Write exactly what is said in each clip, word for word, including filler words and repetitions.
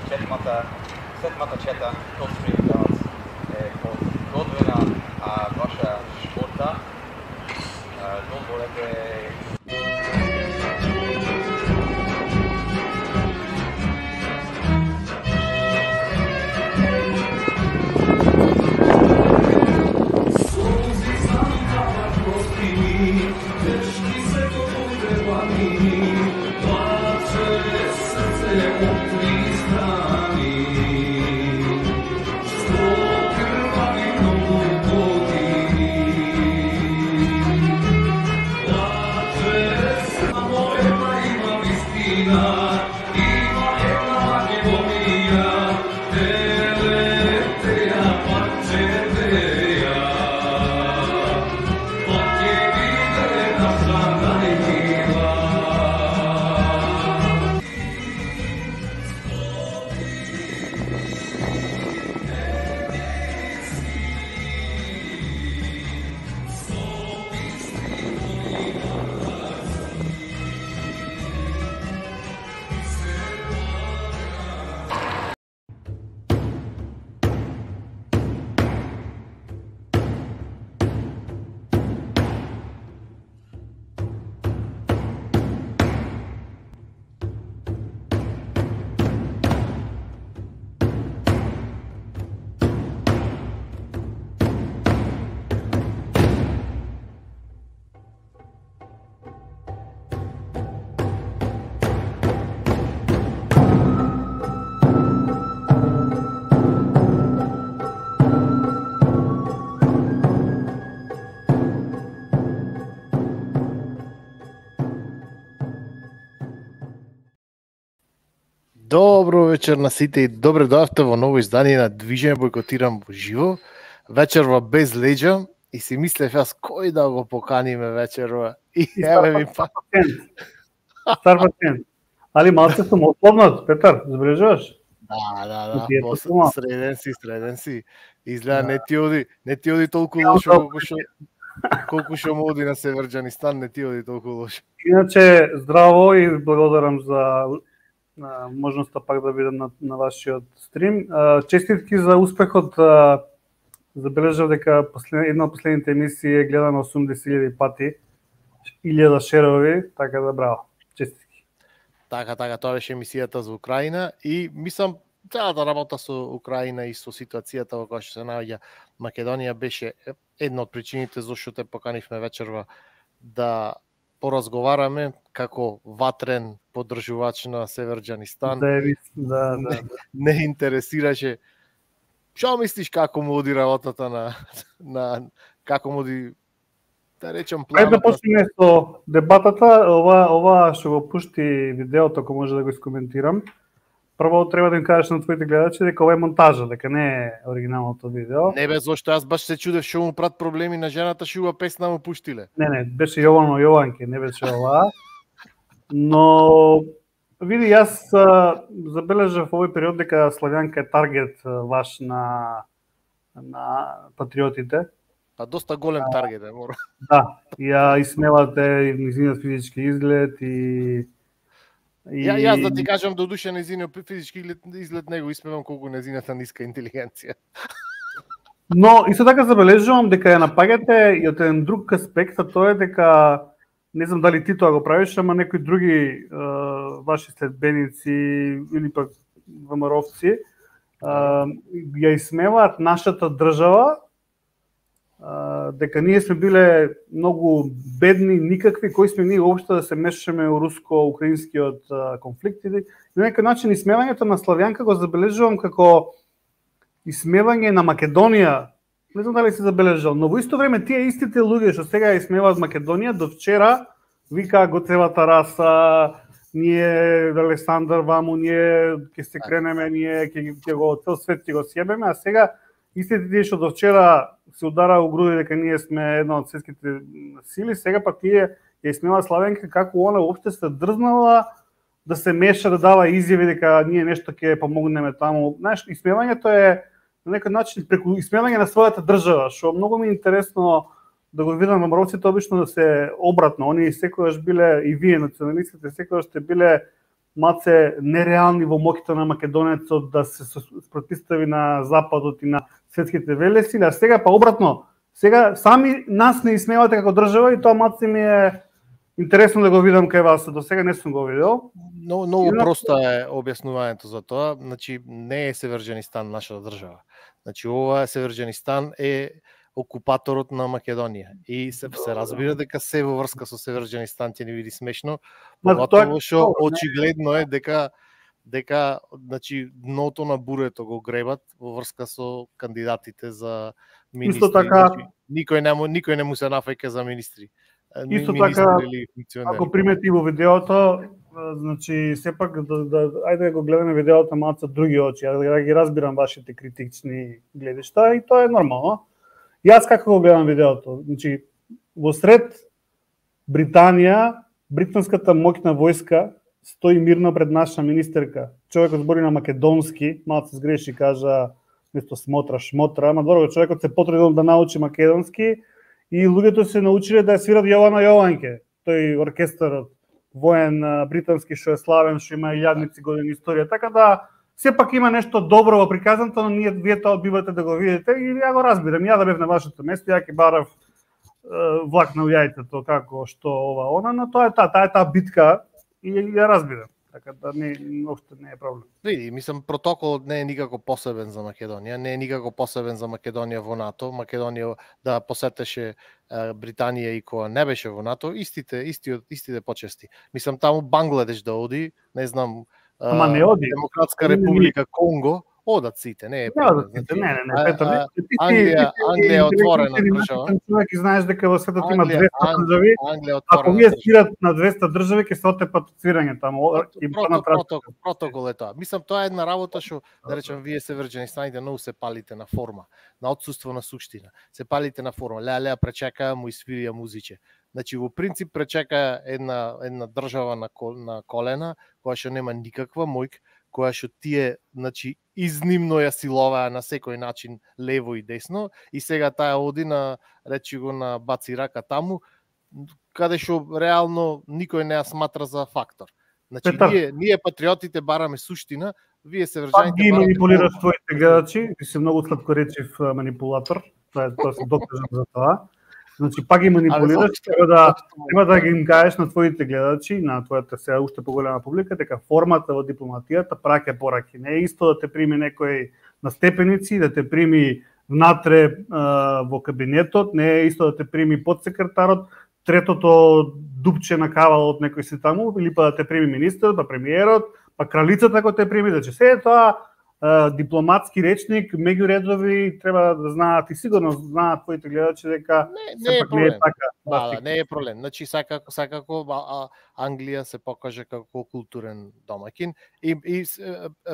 седмата, седмата чета Cold Spring Dance е подготвена, а ваша шпорта дозволете. Добро вечер на сите и добре дојавте во ново издание на Движење Бойкотирам во живо. Вечерва без леѓа и си мислев јас кој да го поканиме вечерва. И еве ми па. Стар пациент. Али малце сум ослабнат, Петар, забележуваш? Да, да, да. Среден си, среден си. Изгледа не ти оди, не ти оди толку лошо колку што колку што му оди на Северџанистан, не ти оди толку лошо. Иначе здраво и благодарам за на можноста пак да видам на, на вашиот стрим. Честитки за успехот. Забележав дека послед, една од последните емисии е гледана осумдесет илјади пати, илјада шерови, така да браво. Честитки. Така, така, тоа беше емисијата за Украина и мислам целата работа со Украина и со ситуацијата во која што се наоѓа Македонија беше една од причините зашто те поканивме вечерва да поразговараме како ватрен поддржувач на Северџанистан. Да, да, да. Не, не интересираше. Што мислиш како му оди работата на на како му оди да речем планот? Ајде да почнеме со дебатата. Ова ова што го пушти видеото, ако може да го искоментирам. Прво треба да им кажеш на твоите гледачи дека ова е монтажа, дека не е оригиналното видео. Не бе, зошто јас баш се чудев што му прат проблеми на жената, што ува песна му пуштиле. Не, не, беше Јовано Јованке, не беше ова. Но види, јас забележав овој период дека Славјанка е таргет ваш на на патриотите. Па доста голем таргет е, мора. Да, ја исмевате низиниот физички изглед и И... Ја, јас да ти кажам, до душа незиниот физички изглед него исмевам колку незината ниска интелигенција. Но исто така забележувам дека ја напаѓате и од еден друг аспект, а тоа е дека не знам дали ти тоа го правиш, ама некои други е, ваши следбеници или пак ВМРО-вци е, ја исмеваат нашата држава, дека ние сме биле многу бедни, никакви, кои сме ние уопште да се мешаме во руско-украинскиот конфликт. И на некој начин исмевањето на Славјанка го забележувам како исмевање на Македонија. Не знам дали си забележал, но во исто време тие истите луѓе што сега исмеваат Македонија, до вчера вика готевата раса, ние Александар Ваму, ние ќе се кренеме, ние ќе ќе го цел свет ќе го сјебеме, а сега истите тие што до вчера се удара у груди дека ние сме една од светските сили, сега па тие ја исмева Славенка како она уопште се дрзнала да се меша, да дава изјави дека ние нешто ќе помогнеме таму. Знаеш, исмевањето е на некој начин преку исмевање на својата држава, што многу ми е интересно да го видам ВМРО-ците обично да се обратно. Они секогаш биле, и вие националистите секогаш сте биле маце нереални во моќта на македонецот да се спротистави на западот и на светските велесили, а сега па обратно, сега сами нас не исмевате како држава и тоа маце ми е интересно да го видам кај вас, до сега не сум го видел. Но, многу просто е објаснувањето за тоа, значи не е Северџанистан нашата држава. Значи ова Северџанистан е окупаторот на Македонија и се, се разбира дека се во врска со Северџанистан ќе ни види смешно, поготово што очигледно е дека дека значи дното на бурето го гребат во врска со кандидатите за министри. Исто така, значи, никој не никој не му се нафаќа за министри. Исто така, ако примети во видеото, значи сепак да, да ајде да го гледаме видеото малку со други очи, ја да ги разбирам вашите критични гледишта и тоа е нормално. Јас како го гледам видеото, значи во сред Британија, британската моќна војска стои мирно пред наша министерка. Човекот збори на македонски, малку се сгреши, кажа место смотра, шмотра, ама добро, човекот се потрудил да научи македонски и луѓето се научиле да ја свират Јована Јованке, тој оркестарот воен британски што е славен, што има илјадници години историја. Така да сепак има нешто добро во приказното, но ние вие тоа одбивате да го видите и ја го разбирам. Ја да бев на вашето место, ја ќе барав е, влак на јајцето како што ова она, но тоа е таа, таа е таа битка и ја разбирам. Така да не општо не е проблем. Види, мислам протоколот не е никако посебен за Македонија, не е никако посебен за Македонија во НАТО. Македонија да посетеше Британија и кога не беше во НАТО, истите истиот истите почести. Мислам таму Бангладеш да оди, не знам, Ама не оди. Демократска република Конго, одат сите, не е проблем. Не, не, не, не, Петро, Англија, Англија е отворена држава. Човек и знаеш дека во светот има двеста држави. Ако вие свират на двеста држави, ќе се отепат од свирање таму и протокол, протокол е тоа. Мислам тоа е една работа што да речем вие Северџанистаните многу се палите на форма, на отсуство на суштина. Се палите на форма. Леа леа пречека му свирија музиче. Значи во принцип пречека една една држава на кол, на колена која што нема никаква моќ, која што тие, значи, изнимно ја силоваа на секој начин лево и десно и сега таа оди на, речи го, на баци рака таму, каде што реално никој не ја сматра за фактор. Значи, Петар, ние, ние патриотите бараме суштина, вие Северџаните барате... Ги манипулираш твоите гледачи, ти си многу сладкоречив манипулатор, тоа е, тоа се докажам за тоа. Значи, пак ги манипулираш, треба да, треба да ги им кажеш на твоите гледачи, на твојата сега уште поголема публика, дека формата во дипломатијата праќа пораки. Не е исто да те прими некој на степеници, да те прими внатре а, во кабинетот, не е исто да те прими подсекретарот, третото дупче на кавалот некој си таму, или па да те прими министерот, па премиерот, па кралицата кој те прими, значи се е тоа Uh, дипломатски речник, меѓу редови треба да знаат и сигурно знаат твоите гледачи дека не, не е проблем. Не е така. Да, да, не е проблем. Значи сакако сакако а, Англија се покаже како културен домаќин и и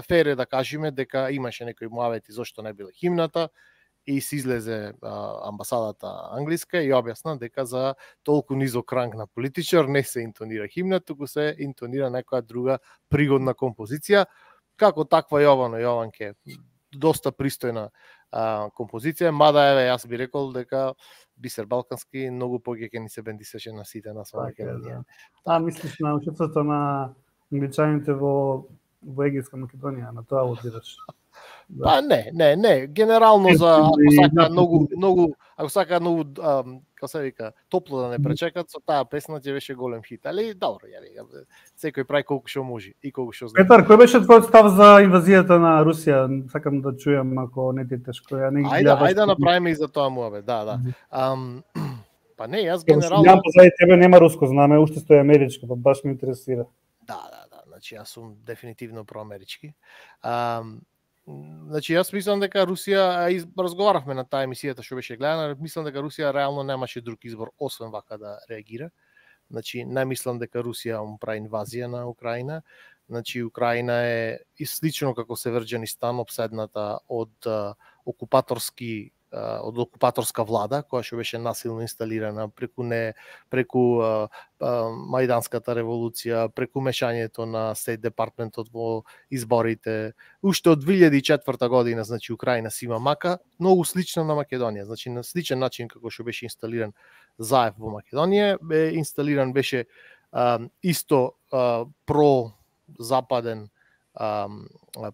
фер е да кажеме дека имаше некои муавети зошто не биле химната и се излезе а, амбасадата англиска и објасна дека за толку низок ранг на политичар не се интонира химна, туку се интонира некоја друга пригодна композиција. Како таква Јовано Јованке, доста пристојна а, композиција, мада еве јас би рекол дека Бисер Балкански многу повеќе ќе ни се бендисеше на сите на своја Македонија. А мислиш на учеството на англичаните во во Егејска Македонија, на тоа одираш? Да. Па не, не, не, генерално за ако сака многу многу, ако сака многу како се вика, топло да не пречекат, со таа песна ќе беше голем хит, али добро, ја вика, секој прави колку што може и колку што знае. Петар, кој беше твојот став за инвазијата на Русија? Сакам да чујам ако не ти е тешко. Ја не ги Ајде, ајде да направиме и за тоа муабе, да, да. Ам, па не, јас генерално Ја позади тебе нема руско знаме, уште стои америчко, па баш ме интересира. Да, да, да, значи јас сум дефинитивно проамерички. Ам, Значи, јас мислам дека Русија, из, разговаравме на таа емисијата што беше гледана, мислам дека Русија реално немаше друг избор освен вака да реагира. Значи, не мислам дека Русија му прави инвазија на Украина. Значи, Украина е и слично како Северџанистан обседната од а, окупаторски од окупаторска влада, која што беше насилно инсталирана преку не преку а, а, Мајданската револуција, преку мешањето на Стейт департментот во изборите. Уште од две илјади и четврта година, значи Украина си има мака, многу слична на Македонија. Значи на сличен начин како што беше инсталиран Заев во Македонија, бе инсталиран беше а, исто а, про западен а,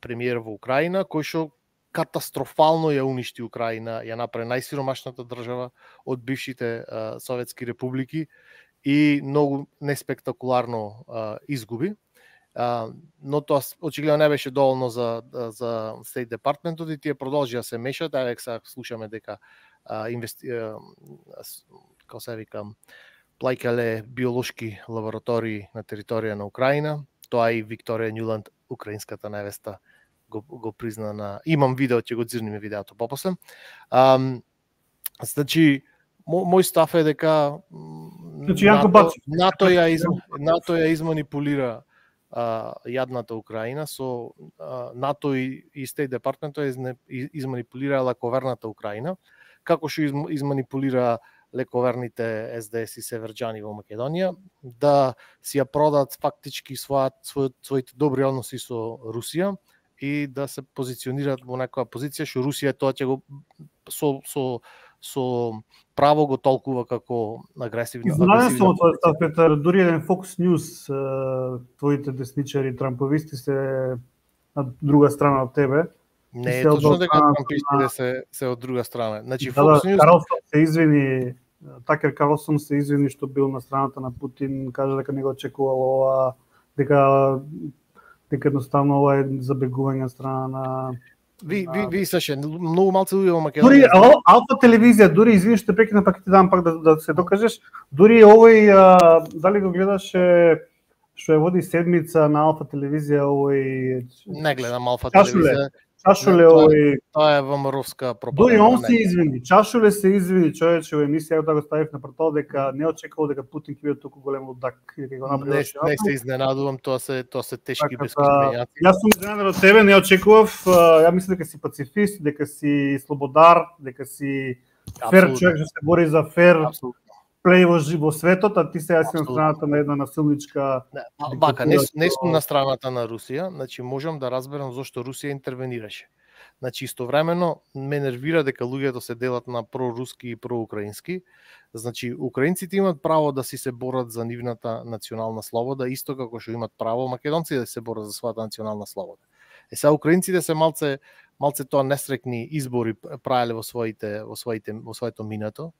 премиер во Украина, кој што катастрофално ја уништи Украина, ја направи најсиромашната држава од бившите а, советски републики и многу неспектакуларно а, изгуби. А, но тоа очигледно не беше доволно за за State Department-от и тие продолжија да се мешат, а сега слушаме дека а, инвести... а, како се вика, плаќале биолошки лаборатории на територија на Украина. Тоа и Викторија Њуланд, украинската невеста, го, го призна на... Имам видео, ќе го дзирниме видеото попосле. Um, значи, мо, мој став е дека значи, НАТО, НАТО, ја, из, НАТО ја изманипулира а, јадната Украина, со а, НАТО и, и State Department ја изманипулира лековерната Украина, како што из, изманипулира лековерните Ес Де Ес и северџани во Македонија, да си ја продадат фактички својат, својот, своите добри односи со Русија и да се позиционираат во некоја позиција што Русија тоа ќе го со, со, со право го толкува како агресивна. Изненаден сум од твојот став, Петар, дури еден Fox News, твоите десничари трамповисти се на друга страна од тебе. Не е точно дека трампистите се се од друга страна. Значи да, Fox News Карлсон се извини, Такер Карлсон се извини што бил на страната на Путин, кажа дека не го очекувал ова, дека дека едноставно ова е забегување од страна на Ви ви ви слушај, многу малце луѓе во Македонија. Дури Алфа телевизија, дури извини што прекина, пак ти дам пак да, да се докажеш, дури овој а, дали го гледаше што ја води седмица на Алфа телевизија овој Не гледам Алфа телевизија. Чашуле овој Тоа е ВМРО-вска пропаганда. Дури он се извини, Чашуле се извини, човече, во емисија да го ставив на портал дека не очекувал дека Путин ќе биде толку голем лудак и дека го направи. Не, не се изненадувам, тоа се тоа се тешки така, бесконечни. Јас сум изненадан од тебе, не очекував, ја мислам дека си пацифист, дека си слободар, дека си фер човек, што се бори за фер. Абсолютно. Плей во во светот, а ти сега си на страната на една насилничка. Не, бака, не, не сум на страната на Русија, значи можам да разберам зошто Русија интервенираше. Значи истовремено ме нервира дека луѓето се делат на проруски и проукраински. Значи украинците имаат право да си се борат за нивната национална слобода, исто како што имаат право македонците да се борат за својата национална слобода. Е сега украинците се малце малце тоа несрекни избори правеле во своите во своите во своето минато.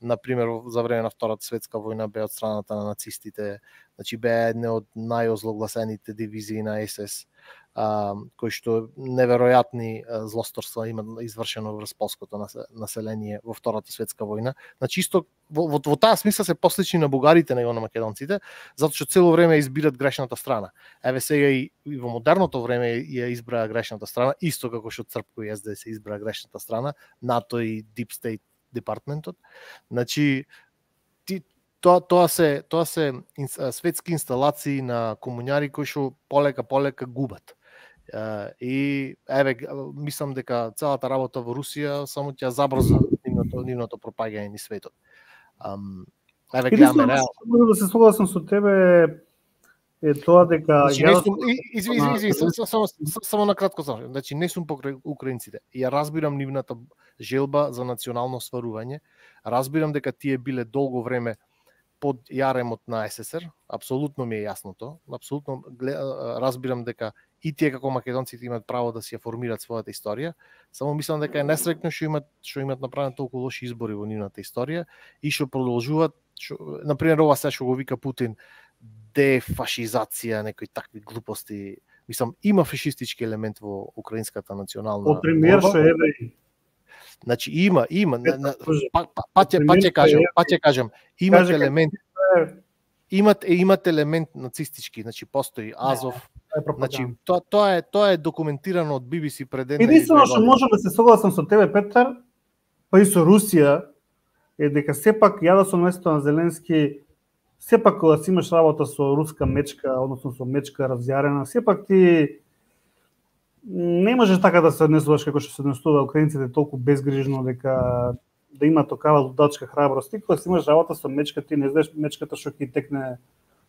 Например, за време на Втората светска војна бе од страната на нацистите, значи бе една од најозлогласените дивизии на Ес Ес, а, кои што неверојатни злосторства има извршено врз полското население во Втората светска војна. Значи исто во, во, во таа смисла се послични на бугарите него на македонците, затоа што цело време избират грешната страна. Еве сега и, и во модерното време ја избраа грешната страна, исто како што Црпко и Ес Де Ес се избраа грешната страна, НАТО и Deep State департментот. Значи ти тоа тоа се тоа се светски инсталации на комуњари кои што полека полека губат. И еве мислам дека целата работа во Русија само ќе забрза нивното нивното пропагање низ светот. Еве гледаме реално. Да се согласам со тебе е тоа дека значи, ја извини извини само само на кратко само. Значи не сум покрај украинците. Ја разбирам нивната желба за национално сварување. Разбирам дека тие биле долго време под јаремот на Ес Ес Ер. Апсолутно ми е јасно тоа. Апсолутно разбирам дека и тие како македонците имаат право да си ја формираат својата историја. Само мислам дека е несреќно што имаат што имаат направено толку лоши избори во нивната историја и што продолжуваат, што на пример ова се што го вика Путин дефашизација, некои такви глупости. Мислам, има фашистички елемент во украинската национална борба. Од премиер што евреи. Значи има, има, па па ќе па ќе кажам, па ќе кажам, имат елемент имат имат елемент нацистички, значи постои Азов. Значи тоа тоа е тоа е документирано од Би Би Си пред една. Единствено што можам да се согласам со тебе, Петар, па и со Русија е дека сепак ја да сум место на Зеленски, сепак кога си имаш работа со руска мечка, односно со мечка разјарена, сепак ти не можеш така да се однесуваш како што се однесува украинците толку безгрижно дека да има такава лудачка храброст. Ти кога си имаш работа со мечка, ти не знаеш мечката што ќе текне,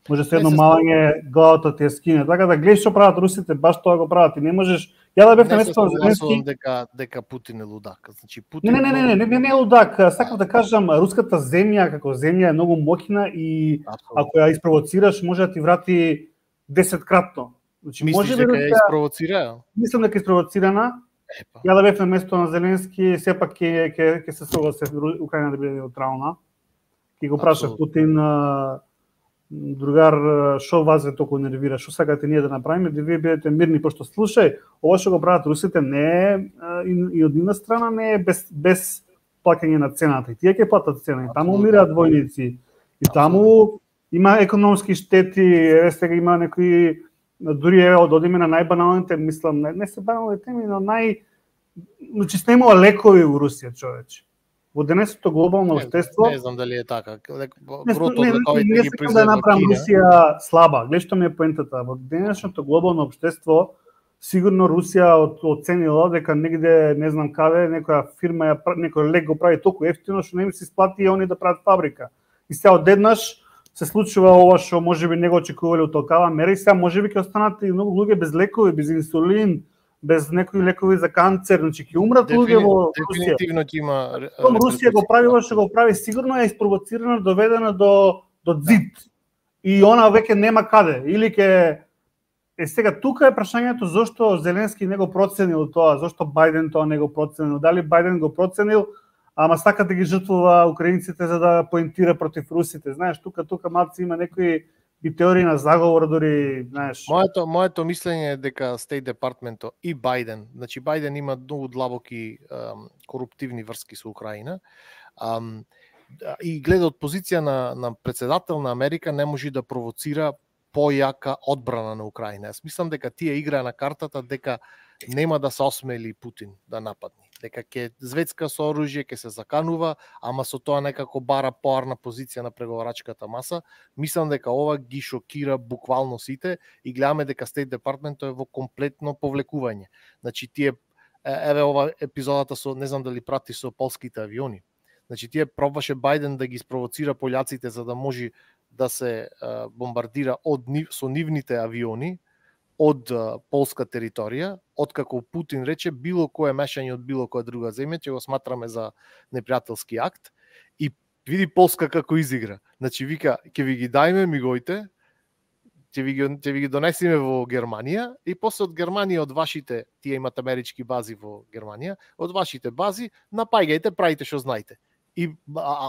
може се едно малање главата ти ја скине. Така да гледаш што прават русите, баш тоа го прават. Ти не можеш. Ја да бев на место на Зеленски дека дека Путин е лудак. Значи Путин Не, не, не, не, не, не, не е лудак. Сакам да кажам, руската земја како земја е многу моќна и ако ја испровоцираш може да ти врати десеткратно. Значи, Мислиш дека ја испровоцира? Мислам дека е испровоцирана. Епа. Ја да бев на место на Зеленски, сепак ќе ќе ќе се согласи Украина да биде неутрална. Ќе го прашав Путин, другар, шо вас ве толку нервира, шо сакате ние да направиме, да вие бидете мирни, пошто слушај, ова што го прават русите не е и, и од една страна не е без без плаќање на цената. И тие ќе платат цена. И таму умираат војници. И таму има економски штети, еве сега има некои дури еве од одиме на најбаналните, мислам, не, не се банални теми, но нај значи снемува лекови во Русија, човече. Во денешното глобално општество не, не знам дали е така. Грото од лековите ги произведува да направам Русија слаба. Гледа што ми е поентата. Во денешното глобално општество сигурно Русија оценила дека негде не знам каде некоја фирма ја некој лек го прави толку ефтино што не им се исплати и они да прават фабрика. И сега одеднаш се случува ова што можеби не го очекувале од толкава мера и сега можеби ќе останат и многу луѓе без лекови, без инсулин, без некои лекови за канцер, значи ќе умрат луѓе во Русија. Дефинитивно ќе има. Русија го прави ова што го прави, сигурно е испровоцирана, доведена до до зид. И она веќе нема каде. Или ќе е сега тука е прашањето зошто Зеленски не го проценил тоа, зошто Бајден тоа не го проценил, дали Бајден го проценил, ама сака да ги жртвува украинците за да поентира против русите. Знаеш, тука тука малци има некои и теории на заговор дори, знаеш. Моето моето мислење е дека State Department и Бајден, значи Бајден има многу длабоки ем, коруптивни врски со Украина. Ем, и гледа од позиција на на председател на Америка не може да провоцира појака одбрана на Украина. Јас мислам дека тие играа на картата дека нема да се осмели Путин да нападне. Дека ќе звецка со оружје, ќе се заканува, ама со тоа некако бара поарна позиција на преговарачката маса. Мислам дека ова ги шокира буквално сите и гледаме дека State Department е во комплетно повлекување. Значи тие еве ова епизодата со не знам дали прати со полските авиони. Значи тие пробваше Бајден да ги спровоцира пољаците за да може да се бомбардира од со нивните авиони од полска територија, откако Путин рече било кое мешање од било која друга земја ќе го сматраме за непријателски акт и види Полска како изигра. Значи вика ќе ви ги дајме мигоите, ќе ви ги ќе ви ги донесеме во Германија и после од Германија од вашите, тие имат амерички бази во Германија, од вашите бази напаѓајте, правите што знаете. И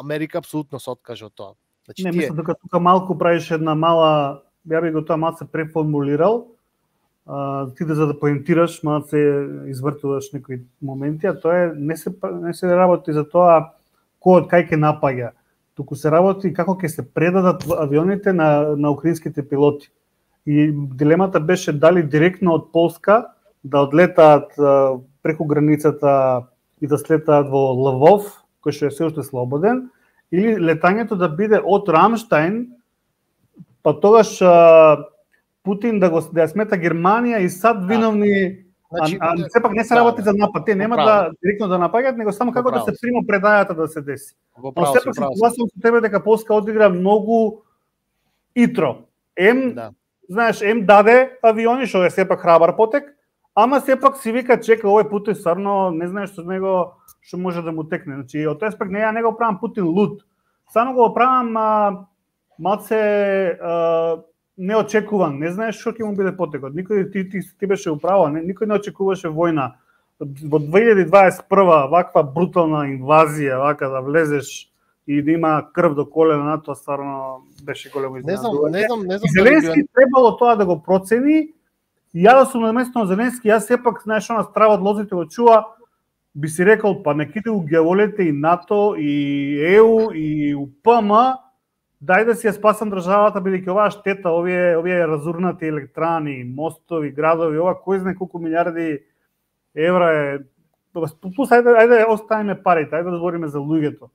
Америка апсолутно се откажа од тоа. Значи, не, тие... мислам дека тука малку правиш една мала, ја би го тоа малку преформулирал, а, ти да за да поентираш, малку се извртуваш некои моменти, а тоа е не се не се работи за тоа кој од кај ќе напаѓа, туку се работи како ќе се предадат авионите на на украинските пилоти. И дилемата беше дали директно од Полска да одлетаат а, преку границата и да слетаат во Лвов, кој што е се уште слободен, или летањето да биде од Рамштајн, па тогаш а, Путин да го да ја смета Германија и САД виновни, значи, а, а сепак не се работи за напад, те нема да директно да напаѓаат, него само како да се прима предајата да се деси. Но сепак се согласувам со тебе дека Полска одигра многу итро. Ем, да. Знаеш, ем даде авиони, што е сепак храбар потек, ама сепак си вика чека овој Путин стварно не знаеш што него што може да му текне. Значи, од тој аспект не ја не го правам Путин луд. Само го правам а, малце а, неочекуван. Не знаеш што ќе му биде потекот. Никој ти, ти, ти беше управа, не, никој не очекуваше војна. Во две илјади дваесет и прва ваква брутална инвазија, вака да влезеш и да има крв до колена на тоа, стварно беше големо изненадување. Не знам, не знам, не знам. Зеленски требало тоа да го процени. И ја да сум на место на Зеленски, јас сепак знаеш она страва од лозите го чува, би си рекол, па неките у геолете и НАТО, и ЕУ, и УПМ, дај да си ја спасам државата, бидејќи оваа штета, овие, овие разурнати електрани, мостови, градови, ова кој знае колку милиарди евра е... Плюс, ајде, ајде оставиме парите, ајде да збориме за луѓето.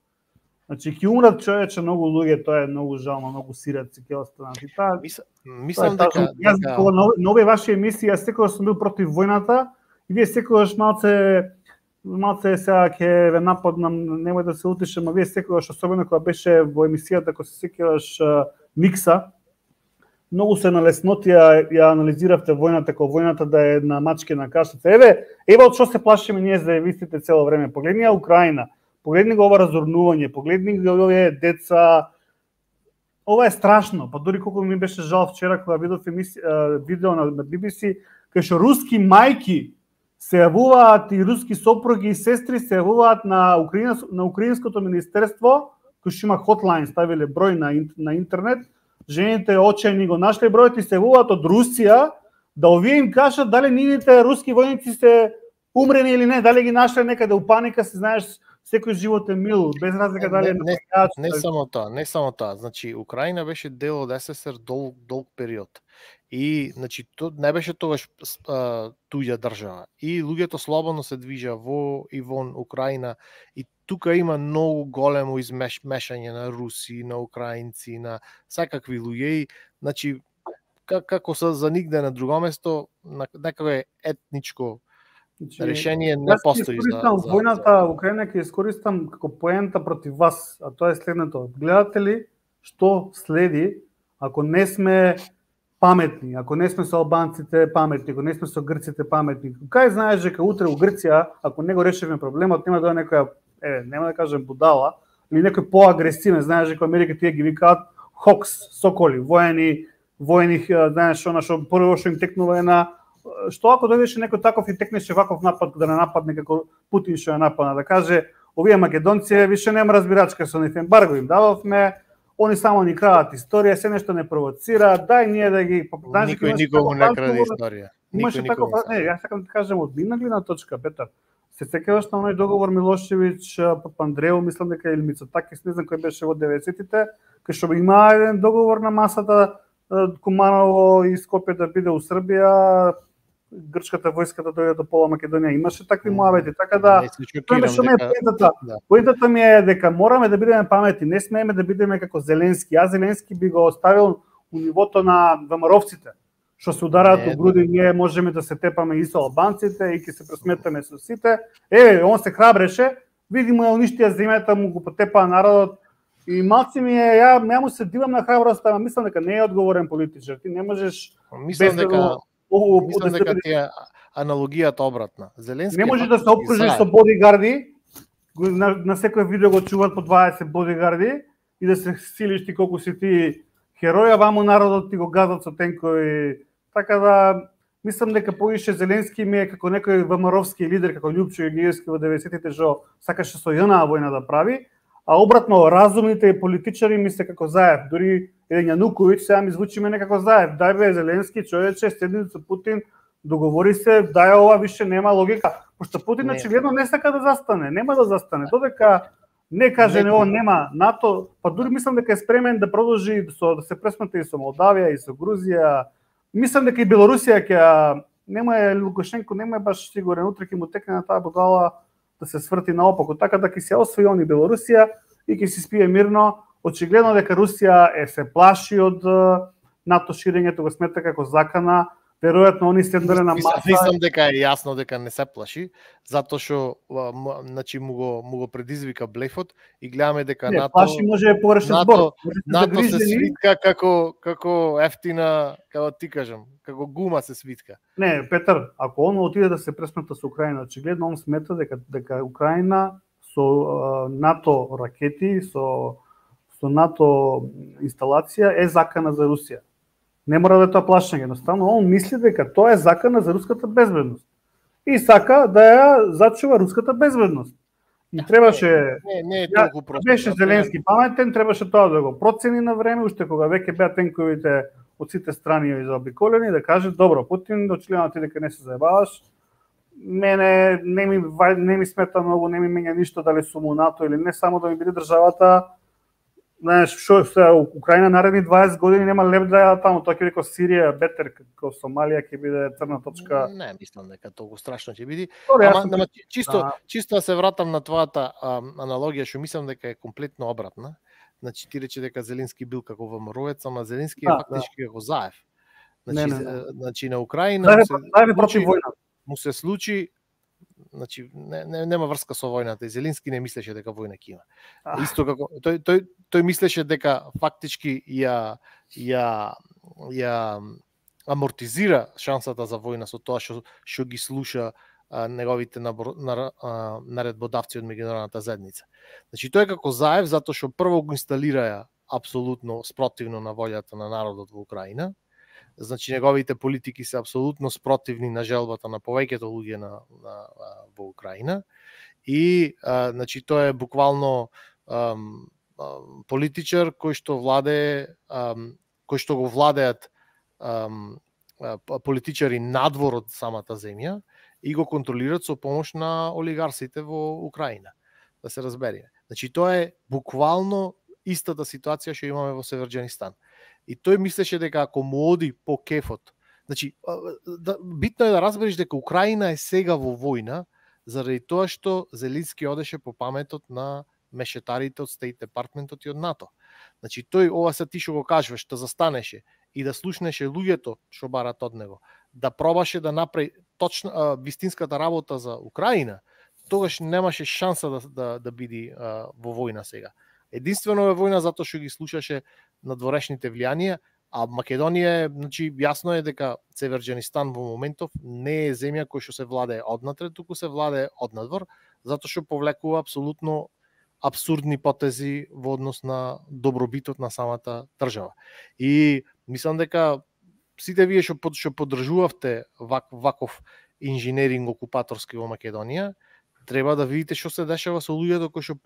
Значи, ќе умрат човече многу луѓе, тоа е многу жално, многу сираци ќе останат. И таа, мислам дека... Јас, на овие ваши емисии, јас секогаш сум бил против војната, и вие секогаш малце малце сега ќе ве нападнам, немој да се утишам, а вие секогаш, особено кога беше во емисијата, кога се сеќаваш Микса, многу се на леснотија ја анализиравте војната, како војната да е на мачкина кашица. Еве, еве од што се плашиме ние заевистите цело време. Погледни ја Украина, погледни го ова разорнување, погледни го овие деца, ова е страшно. Па дури колку ми беше жал вчера кога видов емисија, видео на, на би би си, кај што руски мајки се јавуваат и руски сопруги и сестри се јавуваат на Украина, на украинското министерство, кој што има хотлайн, ставиле број на, на интернет, жените очајни го нашле бројот и се јавуваат од Русија да овие им кажат дали нивните руски војници се умрени или не, дали ги нашле некаде у паника, се знаеш, секој живот е мил, без разлика дали е не, не, не само тоа, не само тоа. Значи Украина беше дел од ес ес ер долг долг период. И значи то не беше тогаш а, туѓа држава. И луѓето слободно се движа во и вон Украина и тука има многу големо измешање на руси, на украинци, на секакви луѓе и значи како се за нигде на друго место, некако е етничко Значи, решение не постои за, за војната во Украина ќе искористам како поента против вас, а тоа е следното. Гледате ли што следи ако не сме паметни, ако не сме со албанците паметни, ако не сме со грците паметни? Кај знаеш дека утре у Грција, ако не го решиме проблемот, нема да некоја, е, нема да кажем будала, или некој поагресивен, знаеш дека Америка тие ги викаат хокс, соколи, воени, воени, знаеш, она што прво што им текнува една што ако дојдеше некој таков и текнеше ваков напад да не нападне како Путин што ја нападна, да каже овие македонци више нема разбирачка со нив, ембарго им дававме, они само ни крадат историја, се нешто не провоцираат, дај ние да ги знаеш, никој никому не краде историја. Имаше таков, не, јас сакам да кажем од нивна гледна точка, Петар. Се сеќаваш на оној договор Милошевиќ, Папандреу, мислам дека или Мицотакис, не знам кој беше во деветдесетите, кај што има еден договор на масата Куманово и Скопје да биде у Србија, грчката војска да дојде до пола Македонија, имаше такви муавети, така да поентата, поентата ми е дека мораме да бидеме паметни, не смееме да бидеме како Зеленски. Јас Зеленски би го оставил у нивото на ВМРО-вците, што се удараат у груди, ние можеме да се тепаме и со албанците и ќе се пресметаме со сите. Еве, он се храбреше, види му ја уништија земјата, му го потепаа народот и малци ми е, ја, ја му се дивам на храброста, ама мислам дека не е одговорен политичар. Ти не можеш мислам дека О, мислам дека тие аналогијата обратна. Зеленски не може да се опкружиш со бодигарди, на, на секој видео го чуваат по дваесет бодигарди и да се силиш ти колку си ти херој, а ваму народот ти го газат со тенкови. Така да мислам дека повише Зеленски ми е како некој ВМРО-вски лидер, како Љупчо Јагиевски во деветдесетите, што сакаше со ЈНА војна да прави, а обратно разумните политичари ми се како Заев, дури еден Јануковиќ сега ми звучиме некако Заев. Дај бе Зеленски, човече, седни со Путин, договори се, дај ова више нема логика. Пошто Путин очигледно не сака да застане, нема да застане. Додека не каже не, он нема НАТО, па дури мислам дека е спремен да продолжи со да се пресмета и со Молдавија и со Грузија. Мислам дека и Белорусија ќе нема е Лукашенко, нема е баш сигурен, утре ќе му текне на таа будала да се сврти наопаку, така да ќе се освои он и Белорусија и ќе си спие мирно. Очигледно дека Русија е се плаши од НАТО ширењето, го смета како закана. Веројатно они седнале на маса. Мислам дека е јасно дека не се плаши, затоа што значи му го му го предизвика блефот и гледаме дека не, НАТО плаши може да погрешен збор. НАТО се свитка како како ефтина, како ти кажам, како гума се свитка. Не, Петар, ако он отиде да се пресмета со Украина, очигледно он смета дека дека Украина со НАТО ракети, со со НАТО инсталација е закана за Русија. Не мора да е тоа плашење, едноставно он мисли дека тоа е закана за руската безбедност. И сака да ја зачува руската безбедност. И требаше не, не е толку просто. Беше Зеленски паметен, требаше тоа да го процени на време, уште кога веќе беа тенковите од сите страни заобиколени, да каже добро, Путин, очигледно ти дека не се заебаваш. Мене не ми не ми смета многу, не ми менја ништо дали сум у НАТО или не, само да ми биде државата. Знаеш, што се Украина наредни дваесет години нема леп да ја таму, тоа ќе биде Сирија, бетер, како Сомалија ќе биде црна точка. Не, мислам дека толку страшно ќе биде. Добре, Ама, сум... нема, чисто, да. чисто да се вратам на твојата а, аналогија, што мислам дека е комплетно обратна. Значи ти рече дека Зеленски бил како ВМРО-ец, ама Зеленски е да, фактички да. како Заев. Не, Значи, не, не. значи на Украина да, му се, да, против војна. му се случи, значи не, не, нема врска со војната и Зеленски не мислеше дека војна ќе има. Ah. Исто како тој тој тој мислеше дека фактички ја ја ја амортизира шансата за војна со тоа што што ги слуша а, неговите набор, на, а, наредбодавци од меѓународната заедница. Значи тој како Заев затоа што прво го инсталира апсолутно спротивно на волјата на народот во Украина. Значи неговите политики се апсолутно спротивни на желбата на повеќето луѓе на, на во Украина и а, значи тој е буквално ам, ам, политичар кој што владее ам, кој што го владеат ам, политичари надвор од самата земја и го контролираат со помош на олигарсите во Украина. Да се разбериме. Значи тоа е буквално истата ситуација што имаме во Северџанистан. И тој мислеше дека ако му оди по кефот, значи да, битно е да разбереш дека Украина е сега во војна заради тоа што Зеленски одеше по паметот на мешетарите од State Department-от и од НАТО. Значи тој ова се ти што го кажуваш, да застанеше и да слушнеше луѓето што барат од него, да пробаше да направи точно а, вистинската работа за Украина, тогаш немаше шанса да да, да биде а, во војна сега. Единствено е војна затоа што ги слушаше надворешните влијанија, а Македонија, значи јасно е дека Северџанистан во моментов не е земја која што се владее однатре, туку се владее однадвор, затоа што повлекува апсолутно апсурдни потези во однос на добробитот на самата држава. И мислам дека сите вие што што поддржувавте вак, ваков инженеринг окупаторски во Македонија, треба да видите што се дешава со луѓето кои што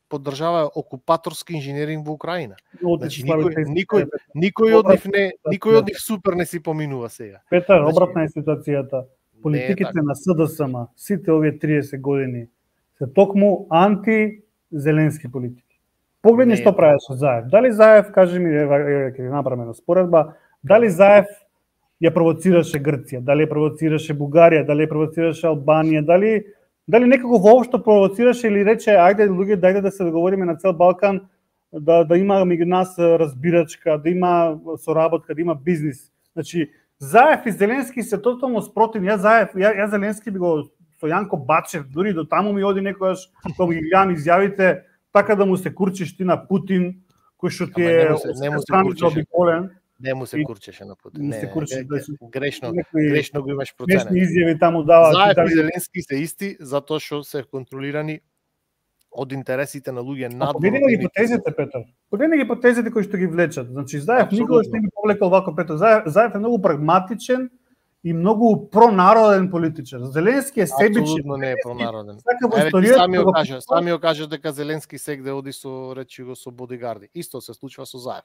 поддржава окупаторски инженеринг во Украина. Значи никој никој никој од нив не никој од нив супер не си поминува сега. Петар, обратна е ситуацијата. Политиките на СДСМ сите овие триесет години се токму анти Зеленски политики. Погледни што правеше Заев. Дали Заев, кажи ми, ќе ви направиме на споредба, дали Заев ја провоцираше Грција, дали ја провоцираше Бугарија, дали ја провоцираше Албанија, дали дали некако воопшто провоцираше или рече ајде луѓе дајде да се договориме на цел Балкан да да има меѓу нас разбирачка, да има соработка, да има бизнис. Значи Заев и Зеленски се тотално спротивни. Ја Заев, ја, ја Зеленски би го со Јанко Бачев, дури до таму ми оди некојаш кога ги гледам изјавите, така да му се курчиш ти на Путин, кој што ти е обиколен. Не му се курчеше на Путин. Не, се курчеше, не, не, грешно, грешно го имаш проценет. Грешни изјави таму дава. Заев и Зеленски се исти затоа што се контролирани од интересите на луѓе надвор. Погледни ги потезите, Петар. Погледни ги потезите кои што ги влечат. Значи Заев никогаш не би повлекал вако Петар. Заев, Заев е многу прагматичен и многу пронароден политичар. Зеленски е себичен. Апсолутно не е пронароден. Еве ти сами го кажа, сами го кажа дека Зеленски сегде оди со речи го со бодигарди. Исто се случува со Заев.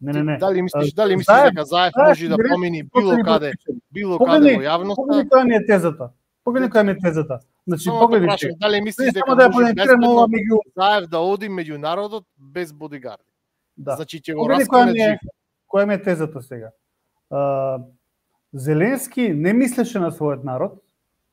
Не, не, не. Дали мислиш, дали мислиш дека Заев може да помини било каде, било каде во јавноста? Погледни која ми е тезата. Погледни која ми е тезата. Значи погледни. Дали мислиш дека да може безбедно меѓу Заев да оди меѓу народот без бодигарди? Да. Значи ќе го раскрие жив. Која ми е тезата сега? Uh, Зеленски не мислеше на својот народ,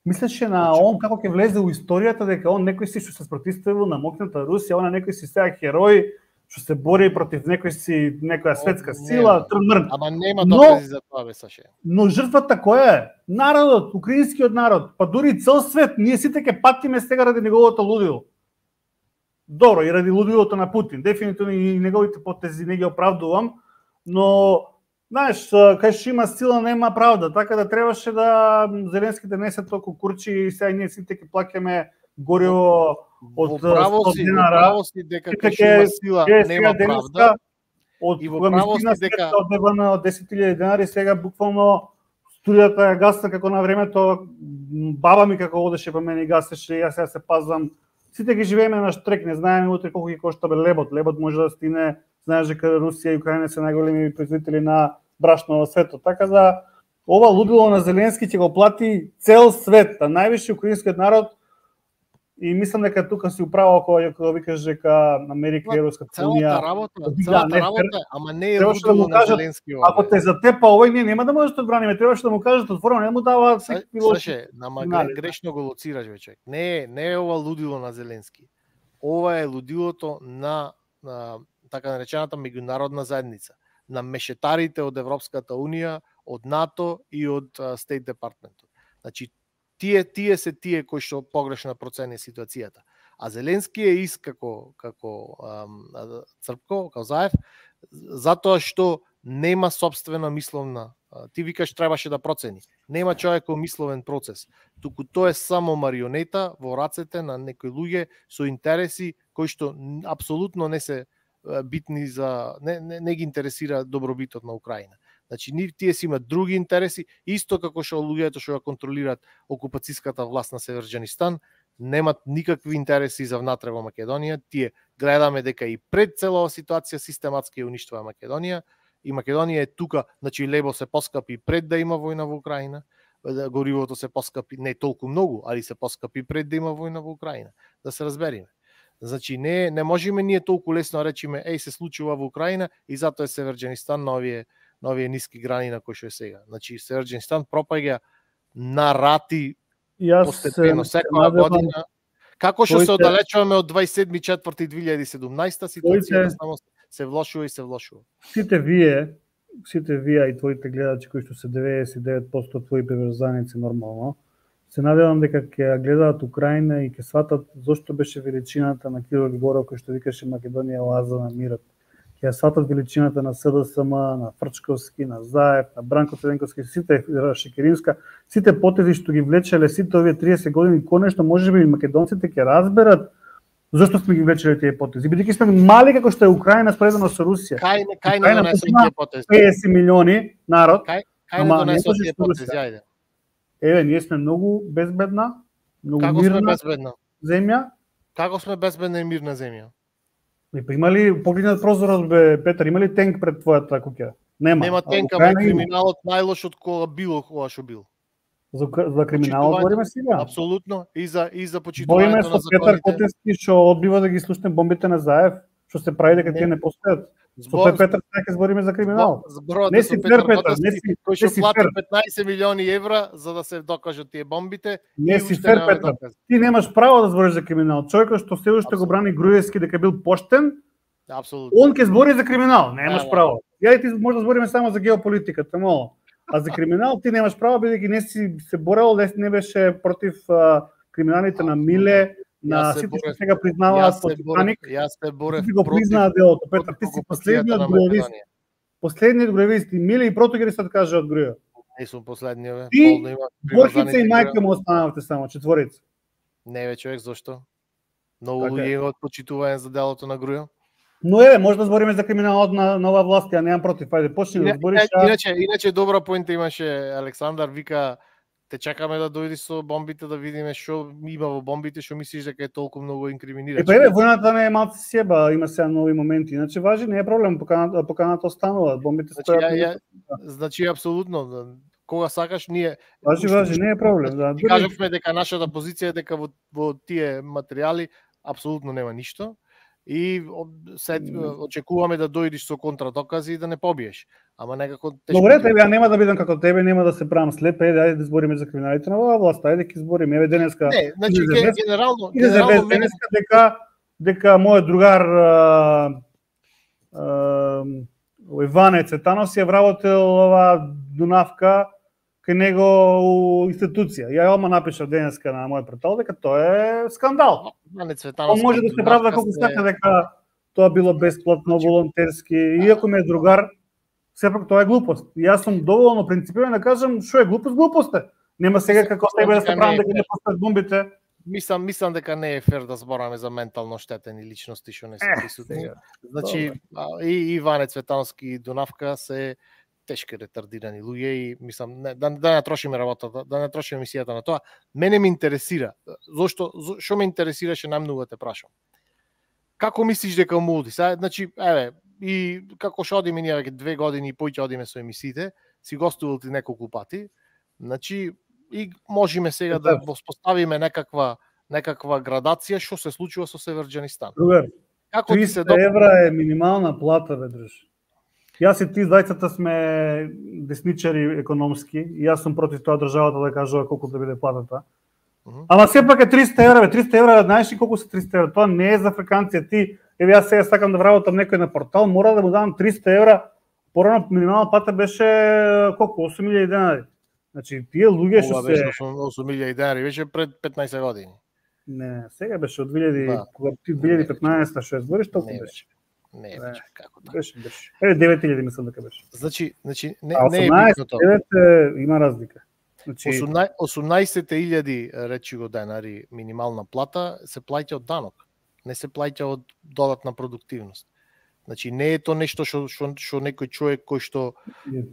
мислеше на он како ќе влезе во историјата, дека он некој си што се спротивставил на мокната Русија, он некој си сега херој што се бори против некој си некоја светска сила, трмрн. Ама нема докази за тоа, бе, Саше. Но жртвата која е? Народот, украинскиот народ, па дури цел свет, ние сите ќе патиме сега ради неговото лудило. Добро, и ради лудилото на Путин, дефинитивно и неговите потези не ги оправдувам, но знаеш, кај што има сила нема правда, така да требаше да Зеленски да не се толку курчи и сега ние сите ќе плаќаме гориво од сто динара. Право си дека кај што има сила нема правда. Од кога мислина дека одебана од десет илјади денари, сега буквално струјата ја гасна како на времето баба ми како одеше па мене и гасеше, јас сега се пазвам. Сите ги живееме на штрек, не знаеме утре колку ќе кошта бе лебот. Лебот може да стине, знаеш дека Русија и Украина се најголеми производители на брашно во светот. Така да ова лудило на Зеленски ќе го плати цел свет, а највише украинскиот народ. И мислам дека тука си управа кога кога викаш дека Америка и Европската унија целата работа, целата работа, ама не е лудило на Зеленски. Ако те затепа овој, ние нема да можеш да одбраниме, требаше да му кажат отворено, не му дава секој пилот. Слушај, нама грешно го лоцираш вече. Не е, не е ова лудило на Зеленски. Ова е лудилото на, на така наречената меѓународна заедница, на мешетарите од Европската унија, од НАТО и од State Department. Значи тие тие се тие кои што погрешно процени ситуацијата. А Зеленски е ист како како ам, Црпко, како Заев, затоа што нема сопствена мисловна. Ти викаш требаше да процени. Нема човеков мисловен процес. Туку тоа е само марионета во рацете на некои луѓе со интереси кои што апсолутно не се битни за не, не, не ги интересира добробитот на Украина. Значи, тие си имаат други интереси, исто како што луѓето што ја контролираат окупацијската власт на Северџанистан, немат никакви интереси за внатре во Македонија. Тие гледаме дека и пред целава ситуација систематски ја уништува Македонија, и Македонија е тука, значи лебо се поскапи пред да има војна во Украина, горивото се поскапи не толку многу, али се поскапи пред да има војна во Украина. Да се разбериме. Значи не не можеме ние толку лесно речиме еј се случува во Украина и затоа е Северџанистан на овие на овие ниски грани на кои што е сега. Значи Северџанистан пропаѓа на рати постепено секоја година. Како што се оддалечуваме од дваесет седми четврти две илјади и седумнаесета, ситуацијата само се влошува и се влошува. Сите вие, сите вие и твоите гледачи кои што се деветдесет и девет проценти твои приврзаници нормално, се надевам дека ќе ја гледаат Украина и ќе сватат зошто беше величината на Кирил Григоров кој што викаше Македонија оаза на мирот. Ќе ја сватат величината на СДСМ, на Фрчковски, на Заев, на Бранко Црвенковски, сите Шекеринска, сите потези што ги влечеле сите овие триесет години, конечно можеби и македонците ќе разберат зошто сме ги влечеле тие потези. Бидејќи сме мали како што е Украина споредено со Русија. Кај не кај не донесо тие потези? петдесет милиони народ. Кај кај не донесо тие потези, ајде. Еве, ние сме многу безбедна, многу Како мирна сме безбедна? земја. Како сме безбедна и мирна земја? И па имали погледнат прозорот бе Петар, има ли тенк пред твојата куќа? Нема. Нема тенка, ама криминалот најлош од кога било кога што бил. За, за криминалот говориме сега. Апсолутно, и за и за почитувањето Бориме на со Петар законите. Котевски што одбива да ги слушне бомбите на Заев, што се прави дека тие не постојат. Со тој Петар ќе збориме за криминал. Зборот Не си фер, Петар, не си, кој не што си плати фер. петнаесет милиони евра за да се докажат тие бомбите. Не и си уште фер, нема Петар. докази. Ти немаш право да збориш за криминал. Човекот што се уште го брани Груевски дека бил поштен, Апсолутно. он ќе збори за криминал. Немаш Да, да. право. Ја и ти може да збориме само за геополитиката, мало. А за криминал ти немаш право бидејќи не си се борел, не, не беше против а, криминалите на Миле, на Јас се сите што борев- сега признаваат Јас по се борев, Титаник. јас се борев Ти го против признаа делото, Петар, ти си окупацијата последниот на груевист. Македонија. Последниот груевист и Миле и Протогерисот кажа од Груев. Не сум последниот, бе. Ти, Полно има Борхица и приврзаници мајка Груев. му останавте само, четворица. Не бе, човек, зошто? Многу Така е. луѓе имаат почитување за делото на Груев. Но еве, може да збориме за криминалот на нова власт, ја немам против. Ајде, почни да Ина- збориш. ина- Иначе, иначе добра поинта имаше Александар, вика те чекаме да дојдеш со бомбите да видиме што има во бомбите, што мислиш дека е толку многу инкриминирачки. Е, па еве, војната не е малку себа, има сега нови моменти. Иначе важи, не е проблем, поканата, поканата останува, бомбите Значи, стојат. ја, ја, значи апсолутно, кога сакаш ние Важи, уште- важи, не е проблем. Да, Ти дури- кажавме дека нашата позиција е дека во, во тие материјали апсолутно нема ништо и о- се очекуваме да дојдеш со контрадокази и да не побиеш. Ама некако тешко. Добре, ти- тебе, ја нема да бидам како тебе, нема да се правам слеп, ајде, ајде да збориме за криминалите на оваа власт, ајде ќе збориме, еве денеска. Не, значи иде за ге- вест- генерално, Иде за генерално вест мене денеска дека дека мојот другар а, а, Иване Цветанов си ја вработил ова Дунавка кај него у институција. Ја ома напишав денеска на мојот портал дека тоа е скандал. Мане Он Цветановски може да се правда колку се- сака дека тоа било бесплатно, волонтерски, иако ми е другар, сепак тоа е глупост. И јас сум доволно принципиран да кажам што е глупост, глупост е. Нема сега како тебе да се правам дека не постават бомбите. Мислам, мислам дека не е фер да збораме за ментално штетени личности што не се Е, присутни. сега. Значи, а, и Иване Цветановски и Дунавка се тешки ретардирани луѓе и мислам не, да, да не трошиме работата, да не трошиме емисијата на тоа. Мене ме интересира. Зошто зо- што ме интересираше најмногу да те прашам. Како мислиш дека му оди? Сега, значи, еве, и како што одиме ние веќе две години и поќе одиме со емисиите, си гостувал ти неколку пати. Значи, и можеме сега да воспоставиме некаква некаква градација што се случува со Северџанистан. Другар, Како ти се триста евра е минимална плата, бе, друж. Јас и ти двајцата сме десничари економски и јас сум против тоа државата да кажува колку да биде платата. Мгм. Ама сепак е триста евра, бе, триста евра, знаеш ли колку се триста евра? Тоа не е за африканци, ти, еве јас сега сакам да вработам некој на портал, мора да му дам триста евра. Порано минимална плата беше колку осум илјади денари. Значи тие луѓе што Ова беше се осум илјади денари, беше пред петнаесет години. не, сега беше од две илјади, Да. кога ти две илјади и петнаесета што ја збориш, толку Не беше. Не, Не. беше како така. Беше, беше. Еве девет илјади мислам дека беше. Значи, значи не, А не е осумнаесет, битно тоа. девет е, има разлика. Значи, осумнаесет осумнаесет илјади речи го денари минимална плата се плаќа од данок. Не се плаќа од додатна продуктивност. Значи не е то нешто што што што некој човек кој што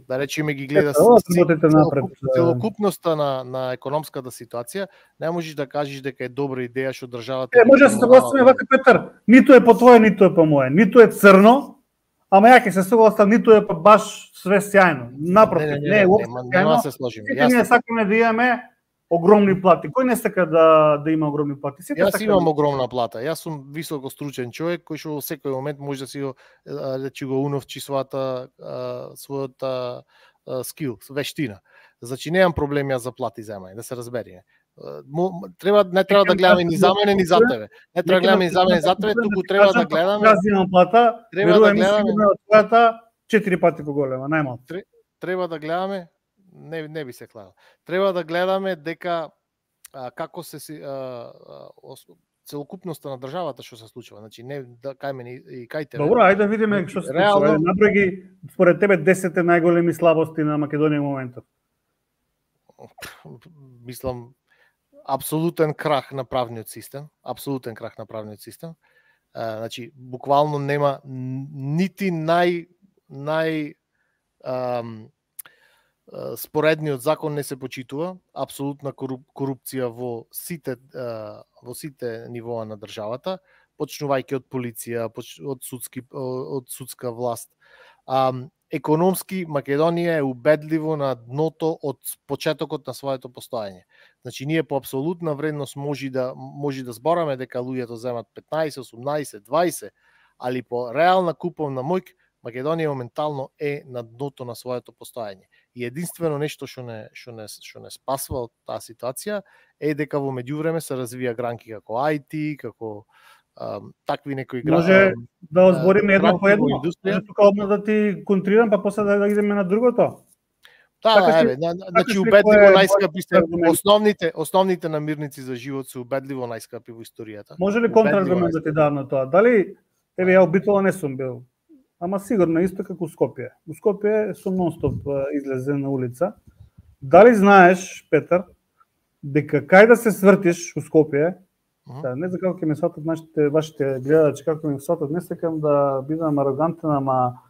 да речеме ги гледа Ето, ова работите напред. целокупноста на на економската ситуација, не можеш да кажеш дека е добра идеја што државата. Е, може да се согласиме вака, Петар, ниту е по твое, ниту е по мое, ниту е црно, ама ја ќе се согласам, ниту е па баш све сјајно. Напротив, не, не, не, не е уопште сјајно. Нема се сложиме. Сите ние сакаме да имаме огромни плати. Кој не сака да да има огромни плати? Сите Јас сака имам да... огромна плата. Јас сум високо стручен човек кој што во секој момент може да си го да ќе го уновчи својата својата скил, вештина. Значи немам проблем јас за плати земање, да се разбериме. Треба не треба да гледаме ни за мене ни за тебе. Не треба да гледаме ни за мене за тебе, туку треба да гледаме. Јас имам плата, треба да гледаме твојата четири пати поголема, најмалку. Треба да гледаме, не не би се клал. Треба да гледаме дека а, како се си а, а, целокупноста на државата што се случува. Значи не да кај мене и кај тебе. Добро, ајде да видиме што се случува. Наброј ги според тебе десет најголеми слабости на Македонија во моментот. Мислам апсолутен крах на правниот систем, апсолутен крах на правниот систем. А, значи буквално нема нити нај нај ам, споредниот закон не се почитува, апсолутна коруп, корупција во сите во сите нивоа на државата, почнувајќи од полиција, од судски од судска власт. А, економски Македонија е убедливо на дното од почетокот на своето постоење. Значи ние по апсолутна вредност може да може да збораме дека луѓето земат петнаесет, осумнаесет, дваесет, али по реална куповна моќ Македонија моментално е на дното на своето постоење. И единствено нешто што не што не што не спасва од таа ситуација е дека во меѓувреме се развија гранки како ай ти, како а, такви некои гранки. Може да озбориме едно по едно. Може тука одма да ти контрирам, па после да, да идеме на другото. Да, така да, еве, значи убедливо најскапи се основните основните намирници за живот се убедливо најскапи во историјата. Може ли контраргумент да ти дадам на тоа? Дали еве ја обитола не сум бил, ама сигурно исто како Скопје. У Скопје сум нонстоп излезен на улица. Дали знаеш, Петар, дека кај да се свртиш у Скопје, uh-huh. да, не знам како ќе ме сватат нашите вашите гледачи, како ме сватат, не сакам да бидам арогантен, ама